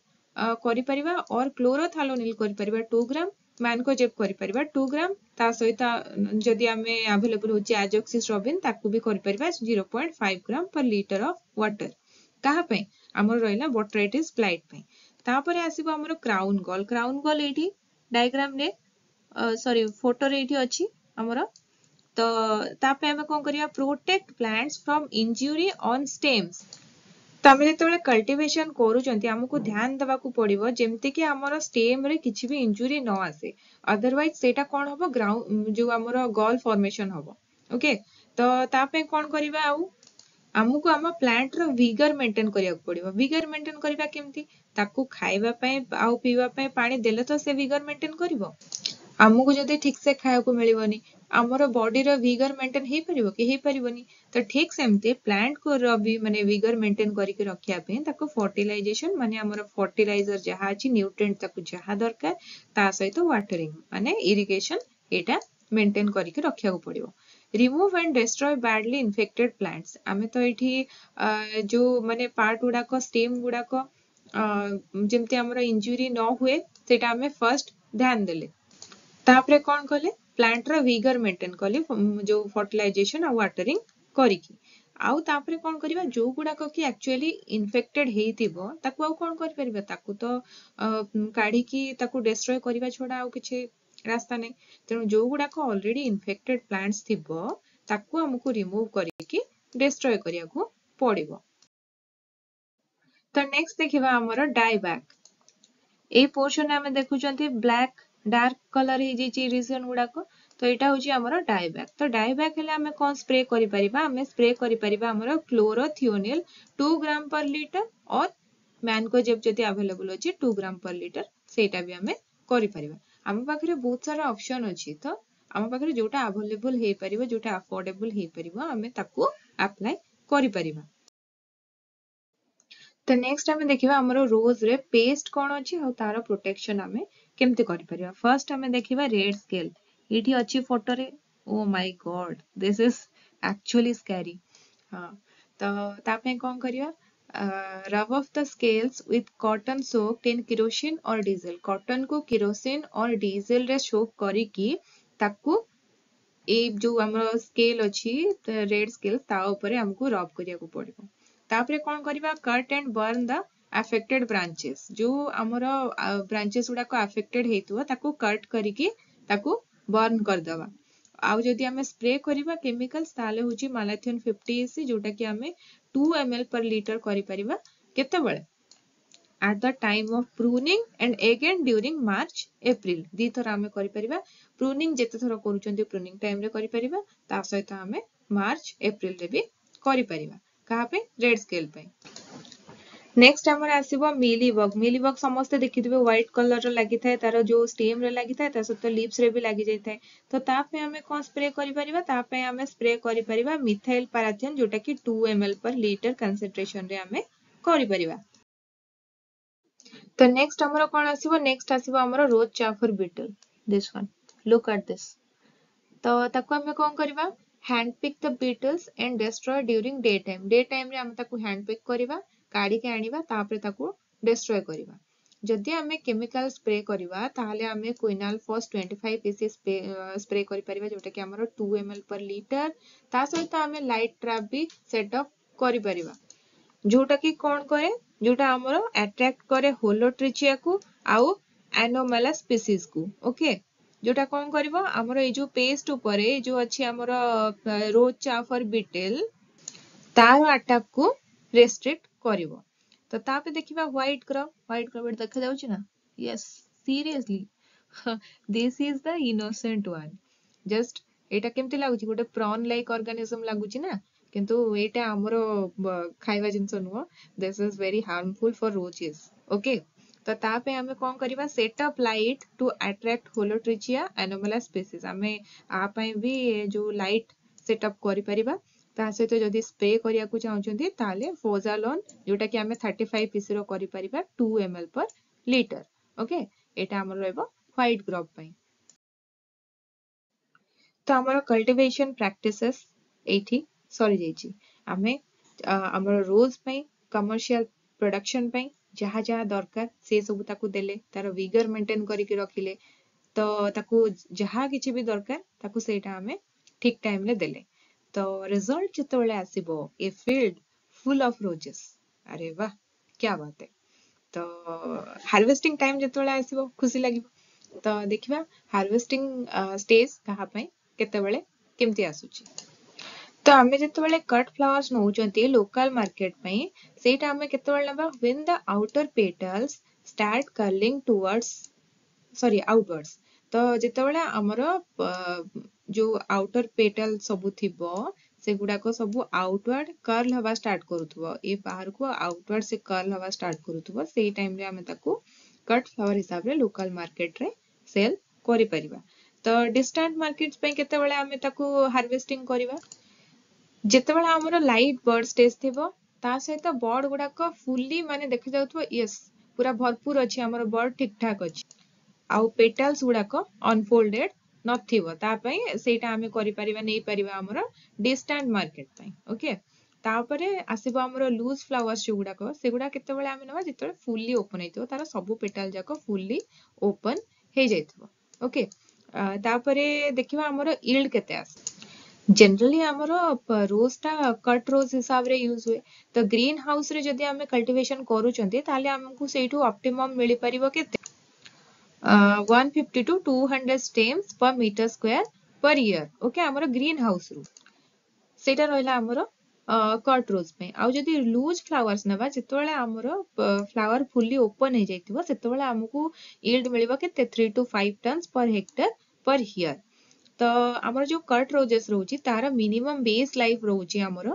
କରିପାରିବା ଅର୍ କ୍ଲୋରୋଥାଲୋନିଲ୍ କରିପାରିବା 2 ଗ୍ରାମ, ମ୍ୟାନକୋଜେବ୍ କରିପାରିବା 2 ଗ୍ରାମ। ତା ସହିତ ଯଦି ଆମେ ଆଭେଲେବୁଲ ହେଉଛି ଆଜୋକ୍ସିଷ୍ଟ୍ରୋବିନ୍, ତାକୁ ବି କରିପାରିବା 0.5 gram per litre of water। କାହା ପାଇଁ? ଆମର ରହିଲା ବଟ୍ରାଇଟିସ୍ ବ୍ଲାଇଟ୍ ପାଇଁ। ତାପରେ ଆସିବ ଆମର କ୍ରାଉନ୍ ଗଲ୍। କ୍ରାଉନ୍ ଗଲ୍ ଏଇଠି ଡାଇଗ୍ରାମରେ, ସରି, ଫଟୋରେ ଏଇଠି ଅଛି ଆମର। ତ ତା ପାଇଁ ଆମେ କଣ କରିବା? Protect plants from injury on stems। ତ ଆମେ ଯେତେବେଳେ କଲ୍ଟିଭେସନ କରୁଛନ୍ତି, ଆମକୁ ଧ୍ୟାନ ଦେବାକୁ ପଡିବ ଯେମିତିକି ଆମର ଷ୍ଟେମ୍ରେ କିଛି ବି ଇଞ୍ଜୁରି ନ ଆସେ। ଅଦରୱାଇଜ ସେଇଟା କଣ ହବ? ଗ୍ରାଉଣ୍ଡ ଯୋଉ ଆମର ଗଲ୍ ଫର୍ମେସନ ହବ, ଓକେ। ତ ତା ପାଇଁ କଣ କରିବା? ଆଉ ଆମକୁ ଆମ ପ୍ଲାଣ୍ଟର ଭିଗର ମେଣ୍ଟେନ କରିବାକୁ ପଡିବ। ଭିଗର ମେଣ୍ଟେନ କରିବା କେମିତି? ତାକୁ ଖାଇବା ପାଇଁ ଆଉ ପିଇବା ପାଇଁ ପାଣି ଦେଲେ ତ ସେ ଭିଗର ମେଣ୍ଟେନ କରିବ। ଆମକୁ ଯଦି ଠିକ ସେ ଖାଇବାକୁ ମିଳିବନି, ଆମର ବଡିର ଭିଗର ମେଣ୍ଟେନ ହେଇପାରିବ କି? ହେଇପାରିବନି। ତ ଠିକ ସେମିତି ପ୍ଲାଣ୍ଟକୁ ବି ମାନେ ଭିଗର ମେଣ୍ଟେନ କରିକି ରଖିବା ପାଇଁ ତାକୁ ଫର୍ଟିଲାଇଜେସନ, ମାନେ ଆମର ଫର୍ଟିଲାଇଜର ଯାହା ଅଛି, ନ୍ୟୁଟ୍ରିଏଣ୍ଟ ତାକୁ ଯାହା ଦରକାର, ତା ସହିତ ୱାଟରିଂ ମାନେ ଇରିଗେସନ, ଏଇଟା ମେଣ୍ଟେନ କରିକି ରଖିବାକୁ ପଡିବ। Remove and destroy badly infected plants. ଆମେ ତ ଏଇଠି ଯୋଉ ମାନେ ପାର୍ଟ ଗୁଡାକ, ଷ୍ଟେମ୍ ଗୁଡାକ ଯେମିତି ଆମର ଇଞ୍ଜୁରି ନ ହୁଏ, ସେଇଟା ଆମେ ଫାର୍ଷ୍ଟ ଧ୍ୟାନ ଦେଲେ। ତାପରେ କଣ କଲେ? ପ୍ଲାଣ୍ଟର ଭିଗର ମେଣ୍ଟେନ କଲେ ଯୋଉ ଫର୍ଟିଲାଇଜେସନ ଆଉ ୱାଟରିଂ କରିକି। ଆଉ ତାପରେ କଣ କରିବା? ଯୋଉ ଗୁଡାକ କି ଆକ୍ଚୁଆଲି ଇନଫେକ୍ଟେଡ ହେଇଥିବ, ତାକୁ ଆଉ କଣ କରିପାରିବା? ତାକୁ ତ କାଢିକି ତାକୁ ଡେଷ୍ଟ୍ରୟ କରିବା ଛଡା ଆଉ କିଛି ରାସ୍ତା ନାହିଁ। ତେଣୁ ଯୋଉ ଗୁଡାକ ଅଲରେଡି ଇନଫେକ୍ଟେଡ ପ୍ଲାଣ୍ଟସ ଥିବ, ତାକୁ ଆମକୁ ରିମୁଭ କରିକି ଡେଷ୍ଟ୍ରୟ କରିବାକୁ ପଡିବ। ତ ନେକ୍ସଟ ଦେଖିବା ଆମର ଡାଇବ୍ୟାକ୍। ଏଇ ପୋର୍ସନରେ ଆମେ ଦେଖୁଛନ୍ତି ବ୍ଲାକ୍, ଡାର୍କ କଲର ହେଇଯାଇଛି ରିଜନ ଗୁଡାକ। ତ ଏଇଟା ହଉଛି ଆମର ଡାଇବ୍ୟାକ୍। ତ ଡାଇବ୍ୟାକ୍ ହେଲେ ଆମେ କଣ ସ୍ପ୍ରେ କରିପାରିବା? ଆମେ ସ୍ପ୍ରେ କରିପାରିବା ଆମର chlorothalonil 2 gram per litre or mancozeb ଯଦି ଆଭେଲେବୁଲ ଅଛି 2 ଗ୍ରାମ ପର ଲିଟର, ସେଇଟା ବି ଆମେ କରିପାରିବା। ଆମ ପାଖରେ ବହୁତ ସାରା ଅପସନ ଅଛି। ତ ଆମ ପାଖରେ ଯୋଉଟା ଆଭେଲେବୁଲ ହେଇପାରିବ, ଯୋଉଟା ଆଫୋର୍ଡେବଲ ହେଇପାରିବ, ଆମେ ତାକୁ ଆପ୍ଲାଏ କରିପାରିବା। ତ ନେକ୍ସଟ ଆମେ ଦେଖିବା ଆମର ରୋଜରେ ପେଷ୍ଟ କଣ ଅଛି ଆଉ ତାର ପ୍ରୋଟେକ୍ସନ ଆମେ କେମିତି କରିପାରିବା। ଫାର୍ଷ୍ଟ ଆମେ ଦେଖିବା ରେଡ୍ ସ୍କେଲ। ଏଇଠି ଅଛି ଫଟୋରେ। Oh my God, this is actually scary। ହଁ, ତ ତା ପାଇଁ କଣ କରିବା? Rub off the scales with cotton soaked in kerosene or diesel। Cotton କୁ kerosene or diesel ରେ soak କରିକି ତାକୁ ଏଇ ଯୋଉ ଆମର ସ୍କେଲ ଅଛି, ରେଡ୍ ସ୍କେଲ, ତା ଉପରେ ଆମକୁ ରବ୍ କରିବାକୁ ପଡିବ। ତାପରେ କଣ କରିବା? Cut and burn the affected branches। ଯୋଉ ଆମର ବ୍ରାଞ୍ଚେସ୍ ଗୁଡାକ ଆଫେକ୍ଟେଡ ହେଇଥିବ, ତାକୁ କଟ୍ କରିକି ତାକୁ ବର୍ନ କରିଦବା। ଆଉ ଯଦି ଆମେ ସ୍ପ୍ରେ କରିବା କେମିକାଲ୍ସ, ତାହେଲେ ହଉଛି ମାଲାଥିଅନ୍ 50 ଇସି, ଯୋଉଟା କି ଆମେ 2 ml per litre କରିପାରିବା। କେତେବେଳେ? At the time of pruning and again during March April। ଦିଥର ଆମେ କରିପାରିବା। ପ୍ରୁନିଂ ଯେତେ ଥର କରୁଛନ୍ତି, ପ୍ରୁନିଂ ଟାଇମରେ କରିପାରିବା, ତା ସହିତ ଆମେ ମାର୍ଚ୍ଚ ଏପ୍ରିଲରେ ବି କରିପାରିବା। କାହା ପାଇଁ? ରେଡ୍ ସ୍କେଲ ପାଇଁ। ନେକ୍ସଟ ଆମର ଆସିବ ମିଲି ବଗ। ମିଲି ବଗ ସମସ୍ତେ ଦେଖିଥିବେ, ହ୍ୱାଇଟ କଲର ର ଲାଗିଥାଏ, ତାର ଯୋଉ ଷ୍ଟେମ ରେ ଲାଗିଥାଏ, ତା ସହିତ ଲିଭ୍ସ ରେ ବି ଲାଗି ଯାଇଥାଏ। ତ ତା ପାଇଁ ଆମେ କଣ ସ୍ପ୍ରେ କରିପାରିବା? ତା ପାଇଁ ଆମେ ସ୍ପ୍ରେ କରିପାରିବା ମିଥାଇଲ ପାରାଥିଅନ, ଯୋଉଟା କି 2 ml per litre concentration ରେ ଆମେ କରିପାରିବା। ତ ନେକ୍ସଟ ଆମର କଣ ଆସିବ? ନେକ୍ସଟ ଆସିବ ଆମର ରୋଜ ଚାଫର beetle. This one, look at this। ତ ତାକୁ ଆମେ କଣ କରିବା? Hand pick the beetles and destroy during day time। Day time ରେ ଆମେ ତାକୁ ହ୍ୟାଣ୍ଡ ପିକ୍ କରିବା, କାଢିକି ଆଣିବା, ତାପରେ ତାକୁ ଡେଷ୍ଟ୍ରୟ କରିବା। ଯଦି ଆମେ କେମିକାଲ ସ୍ପ୍ରେ କରିବା, ତାହେଲେ ଆମେ quinalphos 25 EC spray କରିପାରିବା, ଯୋଉଟା କି ଆମର 2 ml per litre। ତା ସହିତ ଆମେ ଲାଇଟ୍ ଟ୍ରାପ୍ ବି ସେଟଅପ୍ କରିପାରିବା, ଯୋଉଟା କି କଣ କରେ? ଯୋଉଟା ଆମର ଆଟ୍ରାକ୍ଟ କରେ ହୋଲୋଟ୍ରିଚିଆକୁ ଆଉ ଆନୋମାଲା ସ୍ପିସିସକୁ, ଓକେ। ଯୋଉଟା କଣ କରିବ? ଆମର ଏଇ ଯୋଉ ପେଷ୍ଟ ଉପରେ, ଏଇ ଯୋଉ ଅଛି ଆମର ରୋଜ ଚାଫର ବିଟେଲ, ତାର ଆଟାକ କୁ ରେଷ୍ଟ୍ରିକ୍ଟ କରିବ। ତ ତାପରେ ଦେଖିବା ହ୍ୱାଇଟ ଗ୍ରବ। ହ୍ୱାଇଟ ଗ୍ରବ ଏଠି ଦେଖାଯାଉଛି ନା? Yes, seriously, this is the innocent one। Just ଏଇଟା କେମିତି ଲାଗୁଛି? ଗୋଟେ ପ୍ରନ୍ ଲାଇକ୍ ଅର୍ଗାନିଜମ ଲାଗୁଛି ନା? କିନ୍ତୁ ଏଇଟା ଆମର ଖାଇବା ଜିନିଷ ନୁହଁ। This is very harmful for roses, okay। ତ ତା ପାଇଁ ଆମେ କଣ କରିବା? Set up light to attract Holotrichia anomala species। ଆମେ ଆ ପାଇଁ ବି ଯୋଉ ଲାଇଟ୍ ସେଟଅପ୍ କରିପାରିବା। ତା ସହିତ ଯଦି ସ୍ପ୍ରେ କରିବାକୁ ଚାହୁଁଛନ୍ତି, ତାହେଲେ ଫୋଜାଲୋନ୍, ଯୋଉଟା କି ଆମେ 35 ଇସି ର କରିପାରିବା 2 ml per litre, okay। ଏଇଟା ଆମର ରହିବ ହ୍ୱାଇଟ ଗ୍ରବ ପାଇଁ। ତ ଆମର କଲ୍ଟିଭେସନ ପ୍ରାକ୍ଟିସେସ୍ ଏଇଠି ସରିଯାଇଛି। ଆମେ ଆମର ରୋଜ ପାଇଁ, କମର୍ସିଆଲ ପ୍ରଡକ୍ସନ ପାଇଁ ଯାହା ଯାହା ଦରକାର ସେ ସବୁ ତାକୁ ଦେଲେ, ତାର ଭିଗର ମେଣ୍ଟେନ କରିକି ରଖିଲେ, ତ ତାକୁ ଯାହା କିଛି ବି ଦରକାର ତାକୁ ସେଇଟା ଆମେ ଠିକ ଟାଇମରେ ଦେଲେ, ତ ରେଜଲ୍ଟ ଯେତେବେଳେ ଆସିବ, a field full of roses। ଆରେ ବାह, କ୍ୟା ବାତ ହେ! ତ ହାର୍ଭେଷ୍ଟିଂ ଟାଇମ ଯେତେବେଳେ ଆସିବ, ଖୁସି ଲାଗିବ। ତ ଦେଖିବା ହାର୍ଭେଷ୍ଟିଂ ଷ୍ଟେଜ କାହା ପାଇଁ କେତେବେଳେ କେମିତି ଆସୁଛି। ତ ଆମେ ଯେତେବେଳେ କଟ୍ ଫ୍ଲାୱାର୍ସ ନଉଛନ୍ତି ଲୋକାଲ ମାର୍କେଟ ପାଇଁ, ସେଇଟା ଆମେ କେତେବେଳେ ନେବା? When the outer petals start curling towards, sorry, outwards। ତ ଯେତେବେଳେ ଆମର ଯୋଉ ଆଉଟର ପେଟାଲ ସବୁ ଥିବ, ସେଗୁଡାକ ସବୁ ଆଉଟୱାର୍ଡ କର୍ଲ ହବା ଷ୍ଟାର୍ଟ କରୁଥିବ, ଏ ବାହାରକୁ ଆଉଟୱାର୍ଡ ସେ କର୍ଲ ହବା ଷ୍ଟାର୍ଟ କରୁଥିବ, ସେଇ ଟାଇମରେ ଆମେ ତାକୁ କଟ୍ ଫ୍ଲାୱାର ହିସାବରେ ଲୋକାଲ ମାର୍କେଟରେ ସେଲ୍ କରିପାରିବା। ତ ଡିଷ୍ଟାଣ୍ଟ ମାର୍କେଟ ପାଇଁ କେତେବେଳେ ଆମେ ତାକୁ ହାର୍ଭେଷ୍ଟିଂ କରିବା? ଯେତେବେଳେ ଆମର ଲାଇଟ୍ ବଡ୍ ଷ୍ଟେଜ ଥିବ, ତା ସହିତ ବଡ୍ ଗୁଡାକ ଫୁଲି ମାନେ ଦେଖାଯାଉଥିବ, ୟେସ୍, ପୁରା ଭରପୁର ଅଛି, ଆମର ବଡ୍ ଠିକ ଠାକ ଅଛି ଆଉ ପେଟାଲ୍ସ ଗୁଡାକ ଅନଫୋଲ୍ଡେଡ ନଥିବ, ତା ପାଇଁ ସେଇଟା ଆମେ କରିପାରିବା, ନେଇପାରିବା ଆମର ଡିଷ୍ଟାଣ୍ଟ ମାର୍କେଟ ପାଇଁ। ଓକେ, ତାପରେ ଆସିବ ଆମର ଲୁଜ୍ ଫ୍ଲାୱାର୍ସ ଯୋଉଗୁଡାକ, ସେଗୁଡା କେତେବେଳେ ଆମେ ନେବା? ଯେତେବେଳେ ଫୁଲି ଓପନ ହେଇଥିବ, ତାର ସବୁ ପେଟାଲ ଯାକ ଫୁଲି ଓପନ ହେଇଯାଇଥିବ। ଓକେ, ତାପରେ ଦେଖିବା ଆମର ଇଲ୍ଡ କେତେ ଆସେ। ଜେନେରାଲି ଆମର ରୋଜଟା କଟ୍ ରୋଜ ହିସାବରେ ୟୁଜ ହୁଏ। ତ ଗ୍ରୀନ ହାଉସରେ ଯଦି ଆମେ କଲ୍ଟିଭେସନ କରୁଛନ୍ତି, ତାହେଲେ ଆମକୁ ସେଇଠୁ ଅପ୍ଟିମମ୍ ମିଳିପାରିବ କେତେ? 150 to 200 stems per meter square per year। Okay, ଆମର ଗ୍ରୀନ ହାଉସରୁ ସେଇଟା ରହିଲା ଆମର କଟ୍ ରୋଜ ପାଇଁ। ଆଉ ଯଦି ଲୁଜ୍ ଫ୍ଲାୱାର୍ସ ନେବା, ଯେତେବେଳେ ଆମର ଫ୍ଲାୱାର ଫୁଲି ଓପନ ହେଇଯାଇଥିବ, ସେତେବେଳେ ଆମକୁ ଇଲ୍ଡ ମିଳିବ କେତେ? 3 to 5 tons per hectare per year। ତ ଆମର ଯୋଉ କଟ୍ ରୋଜେସ୍ ରହୁଛି, ତାର ମିନିମମ୍ ବେସ୍ ଲାଇଫ ରହୁଛି ଆମର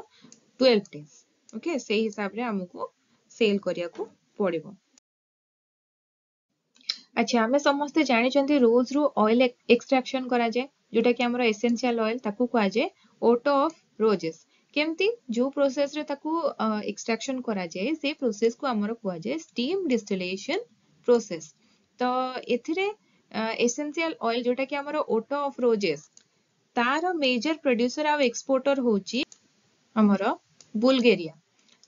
12 ଡେଜ୍। ଓକେ, ସେଇ ହିସାବରେ ଆମକୁ ସେଲ୍ କରିବାକୁ ପଡିବ। ଆଚ୍ଛା, ଆମେ ସମସ୍ତେ ଜାଣିଛନ୍ତି ରୋଜ ରୁ ଅଏଲ ଏକ୍ସଟ୍ରାକ୍ସନ କରାଯାଏ, ଯୋଉଟା କି ଆମର ଏସେନ୍ସିଆଲ ଅଏଲ, ତାକୁ କୁହାଯାଏ ଓଟୋ ଅଫ ରୋଜେସ୍। କେମିତି, ଯୋଉ ପ୍ରୋସେସରେ ତାକୁ ଏକ୍ସଟ୍ରାକ୍ସନ କରାଯାଏ, ସେଇ ପ୍ରୋସେସକୁ ଆମର କୁହାଯାଏ ଷ୍ଟିମ୍ ଡିଷ୍ଟିଲେସନ ପ୍ରୋସେସ। ତ ଏଥିରେ ଏସେନ୍ସିଆଲ ଅଏଲ, ଯୋଉଟା କି ଆମର ଓଟୋ ଅଫ ରୋଜେସ୍, ତାର ମେଜର ପ୍ରଡ୍ୟୁସର ଆଉ ଏକ୍ସପୋର୍ଟର ହଉଛି ଆମର ବୁଲଗେରିଆ।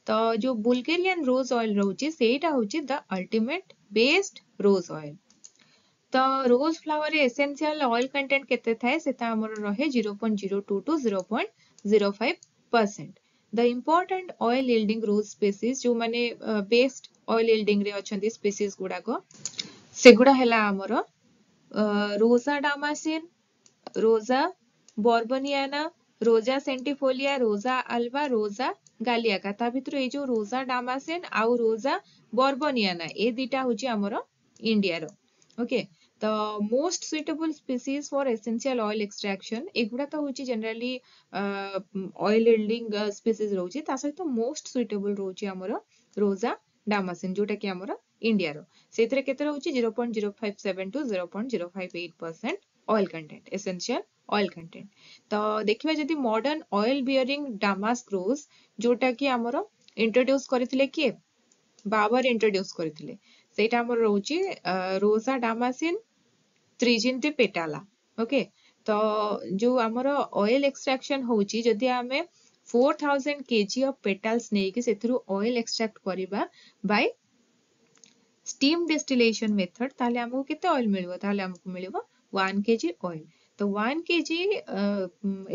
ତ ଯୋଉ ବୁଲଗେରିଆନ ରୋଜ ଅଏଲ ରହୁଛି, ସେଇଟା ହଉଛି the ultimate best rose oil। ତ ରୋଜ ଫ୍ଲାୱାରରେ ଏସେନ୍ସିଆଲ ଅଏଲ କଣ୍ଟେଣ୍ଟ କେତେ ଥାଏ? ସେଟା ଆମର ରହେ 0.02 to 0.05%। The important oil yielding rose species, ଯୋଉମାନେ ବେଷ୍ଟ ଅଏଲ ୟିଲ୍ଡିଂ ରେ ଅଛନ୍ତି ସ୍ପେସିସ୍ ଗୁଡାକ, ସେଗୁଡା ହେଲା ଆମର ରୋଜା ଡାମାସିନ, ରୋଜା ବର୍ବନିଆନା, ରୋଜା ସେଣ୍ଟିଫୋଲିଆ, ରୋଜା ଆଲବା, ରୋଜା ଗାଲିଆକା। ତା ଭିତରୁ ଏଇ ଯୋଉ ରୋଜା ଡାମାସିନ ଆଉ ରୋଜା ବର୍ବନିଆନା, ଏ ଦିଟା ହଉଛି ଆମର ଇଣ୍ଡିଆର। ଓକେ, ତ most suitable species for essential oil extraction, ଏଗୁଡ଼ା ତ ହଉଛି ଜେନେରାଲି ଅଏଲ ୟିଲ୍ଡିଂ ସ୍ପେସିସ୍ ରହୁଛି। ତା ସହିତ ମୋଷ୍ଟ ସୁଇଟେବଲ ରହୁଛି ଆମର ରୋଜା ଡାମାସିନ, ଯୋଉଟା କି ଆମର ଇଣ୍ଡିଆର। ସେଇଥିରେ କେତେ ରହୁଛି? 0.057 to 0.058% oil content, essential oil content। ତ ଦେଖିବା ଯଦି modern oil bearing damask rose, ଯୋଉଟା କି ଆମର ଇଣ୍ଟ୍ରୋଡ୍ୟୁସ କରିଥିଲେ କିଏ? ବାବର ଇଣ୍ଟ୍ରୋଡ୍ୟୁସ କରିଥିଲେ। ସେଇଟା ଆମର ରହୁଛି ରୋଜା ଡାମାସିନ ତ୍ରିଜିନ୍ତି ପେଟାଲା। ଓକେ, ତ ଯୋଉ ଆମର ଅଏଲ ଏକ୍ସଟ୍ରାକ୍ସନ ହଉଛି, ଯଦି ଆମେ 4000 kg of petals ନେଇକି ସେଥିରୁ ଅଏଲ ଏକ୍ସଟ୍ରାକ୍ଟ କରିବା ବାଇ ଷ୍ଟିମ୍ ଡିଷ୍ଟିଲେସନ ମେଥଡ, ତାହେଲେ ଆମକୁ କେତେ ଅଏଲ ମିଳିବ? ତାହେଲେ ଆମକୁ ମିଳିବ 1 କେଜି ଅଏଲ। ତ 1 କେଜି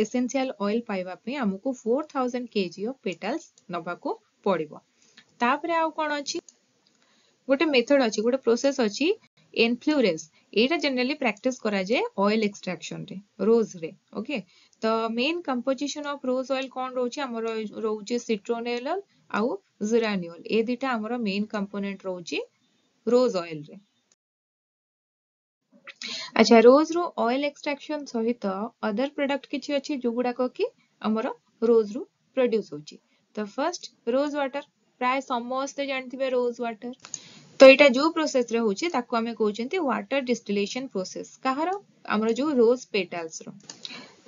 ଏସେନ୍ସିଆଲ ଅଏଲ ପାଇବା ପାଇଁ ଆମକୁ 4000 kg of petals ନବାକୁ ପଡିବ। ତାପରେ ଆଉ କଣ ଅଛି? ଗୋଟେ ମେଥଡ ଅଛି, ଗୋଟେ ପ୍ରୋସେସ ଅଛି, ଏନଫ୍ଲୁରେନ୍ସ। ଏଇଟା ଜେନେରାଲି ପ୍ରାକ୍ଟିସ କରାଯାଏ ଅଏଲ ଏକ୍ସଟ୍ରାକ୍ସନରେ ରୋଜରେ। ଓକେ, ତ main composition of rose oil କଣ ରହୁଛି? ଆମର ରହୁଛି ସିଟ୍ରୋନେଲ ଆଉ ଜିରାନିଓଲ। ଏ ଦିଟା ଆମର ମେନ୍ କମ୍ପୋନେଣ୍ଟ ରହୁଛି ରୋଜ ଅଏଲରେ। ଆଚ୍ଛା, ରୋଜ ରୁ ଅଏଲ ଏକ୍ସଟ୍ରାକ୍ସନ ସହିତ ଅଦର ପ୍ରଡକ୍ଟ କିଛି ଅଛି, ଯୋଉଗୁଡାକ କି ଆମର ରୋଜ ରୁ ପ୍ରଡ୍ୟୁସ ହଉଛି। ତ ଫର୍ଷ୍ଟ ରୋଜ ୱାଟର, ପ୍ରାୟ ସମସ୍ତେ ଜାଣିଥିବେ ରୋଜ ୱାଟର। ତ ଏଇଟା ଯୋଉ ପ୍ରୋସେସ ରେ ହଉଛି, ତାକୁ ଆମେ କହୁଛନ୍ତି ୱାଟର ଡିଷ୍ଟିଲେସନ ପ୍ରୋସେସ। କାହାର? ଆମର ଯୋଉ ରୋଜ ପେଟାଲ୍ସ ର।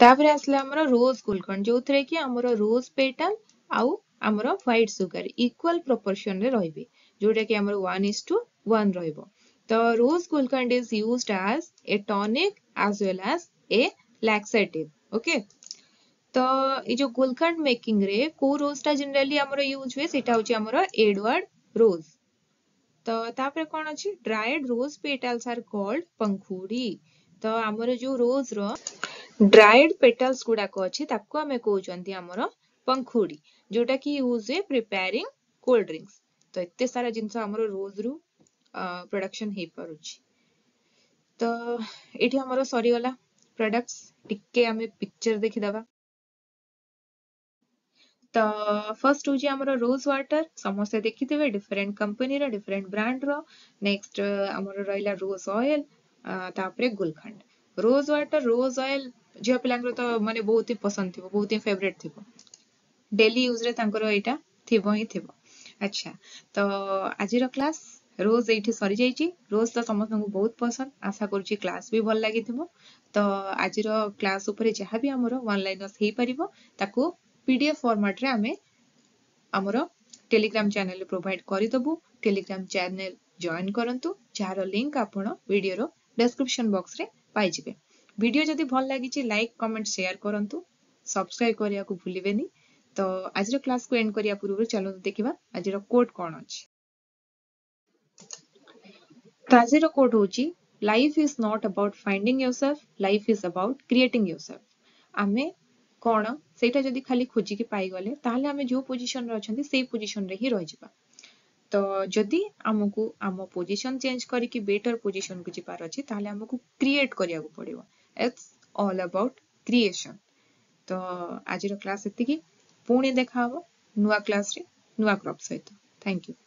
ତାପରେ ଆସିଲା ଆମର ରୋଜ ଗୁଲକଣ୍ଡ, ଯୋଉଥିରେ କି ଆମର ରୋଜ ପେଟାଲ ଆଉ ଆମର ହ୍ୱାଇଟ ସୁଗାର ଇକ୍ୱାଲ ପ୍ରପୋର୍ସନ ରେ ରହିବେ, ଯୋଉଟା କି ଆମର 1:1 ରହିବ। ତ rose gulkand is used as a tonic as well as a laxative। Okay, ତ ଏଇ ଯୋଉ ଗୁଲକଣ୍ଡ ମେକିଂ ରେ କୋଉ ରୋଜ ଟା ଜେନେରାଲି ଆମର ୟୁଜ ହୁଏ? ସେଇଟା ହଉଛି ଆମର ଏଡୱାର୍ଡ ରୋଜ। ତ ତାପରେ କ'ଣ ଅଛି? Dried rose petals are called pankhudi. ତ ଆମର ଯୋଉ ରୋଜ ର ଡ୍ରାଏଡ୍ ପେଟାଲ୍ସ ଗୁଡାକ ଅଛି, ତାକୁ ଆମେ କହୁଛନ୍ତି ଆମର ପଙ୍ଖୁଡି, ଯୋଉଟା କି ୟୁଜ ହୁଏ ପ୍ରିପେୟାରିଂ କୋଲ୍ଡ ଡ୍ରିଙ୍କସ। ତ ଏତେ ସାରା ଜିନିଷ ଆମର ରୋଜ ରୁ ପ୍ରଡକ୍ସନ ହେଇପାରୁଛି। ତ ଏଇଠି ଆମର ସରିଗଲା ପ୍ରଡକ୍ଟସ। ଟିକେ ଆମେ ପିକ୍ଚର ଦେଖିଦବା। ତ ଫର୍ଷ୍ଟ ହଉଛି ଆମର ରୋଜ ୱାଟର, ସମସ୍ତେ ଦେଖିଥିବେ, ଡିଫରେଣ୍ଟ କମ୍ପାନୀର, ଡିଫରେଣ୍ଟ ବ୍ରାଣ୍ଡର। ନେକ୍ସଟ ଆମର ରହିଲା ରୋଜ ଅଏଲ, ତାପରେ ଗୁଲଖଣ୍ଡ। ରୋଜ ୱାଟର, ରୋଜ ଅଏଲ ଝିଅ ପିଲାଙ୍କର ତ ମାନେ ବହୁତ ହିଁ ପସନ୍ଦ ଥିବ, ବହୁତ ହିଁ ଫେଭରେଟ ଥିବ, ଡେଲି ୟୁଜରେ ତାଙ୍କର ଏଇଟା ଥିବ ହିଁ ଥିବ। ଆଚ୍ଛା, ତ ଆଜିର କ୍ଲାସ ରୋଜ ଏଇଠି ସରିଯାଇଛି। ରୋଜ ତ ସମସ୍ତଙ୍କୁ ବହୁତ ପସନ୍ଦ। ଆଶା କରୁଛି କ୍ଲାସ ବି ଭଲ ଲାଗିଥିବ। ତ ଆଜିର କ୍ଲାସ ଉପରେ ଯାହା ବି ଆମର ୱାନ୍ ଲାଇନର୍ସ ହେଇପାରିବ, ତାକୁ ପିଡିଏଫ ଫର୍ମାଟରେ ଆମେ ଆମର ଟେଲିଗ୍ରାମ ଚ୍ୟାନେଲରେ ପ୍ରୋଭାଇଡ କରିଦେବୁ। ଟେଲିଗ୍ରାମ ଚ୍ୟାନେଲ ଜଏନ୍ କରନ୍ତୁ, ଯାହାର ଲିଙ୍କ ଆପଣ ଭିଡିଓର ଡେସ୍କ୍ରିପସନ ବକ୍ସରେ ପାଇଯିବେ। ଭିଡିଓ ଯଦି ଭଲ ଲାଗିଛି, ଲାଇକ୍, କମେଣ୍ଟ, ସେୟାର କରନ୍ତୁ, ସବସ୍କ୍ରାଇବ କରିବାକୁ ଭୁଲିବେନି। ତ ଆଜିର କ୍ଲାସକୁ ଏଣ୍ଡ କରିବା ପୂର୍ବରୁ ଚାଲନ୍ତୁ ଦେଖିବା ଆଜିର କୋଟ୍ କ'ଣ ଅଛି। ତ ଆଜିର କୋଟ୍ ହଉଛି, "Life is not about finding yourself, life is about creating yourself." ଆମେ କ'ଣ ସେଇଟା ଯଦି ଖାଲି ଖୋଜିକି ପାଇଗଲେ, ତାହେଲେ ଆମେ ଯୋଉ ପୋଜିସନରେ ଅଛନ୍ତି ସେଇ ପୋଜିସନରେ ହିଁ ରହିଯିବା। ତ ଯଦି ଆମକୁ ଆମ ପୋଜିସନ ଚେଞ୍ଜ କରିକି ବେଟର ପୋଜିସନକୁ ଯିବାର ଅଛି, ତାହେଲେ ଆମକୁ କ୍ରିଏଟ କରିବାକୁ ପଡିବ। It's all about creation. ତ ଆଜିର କ୍ଲାସ ଏତିକି। ପୁଣି ଦେଖା ହବ ନୂଆ କ୍ଲାସରେ ନୂଆ କ୍ରପ୍ ସହିତ। Thank you.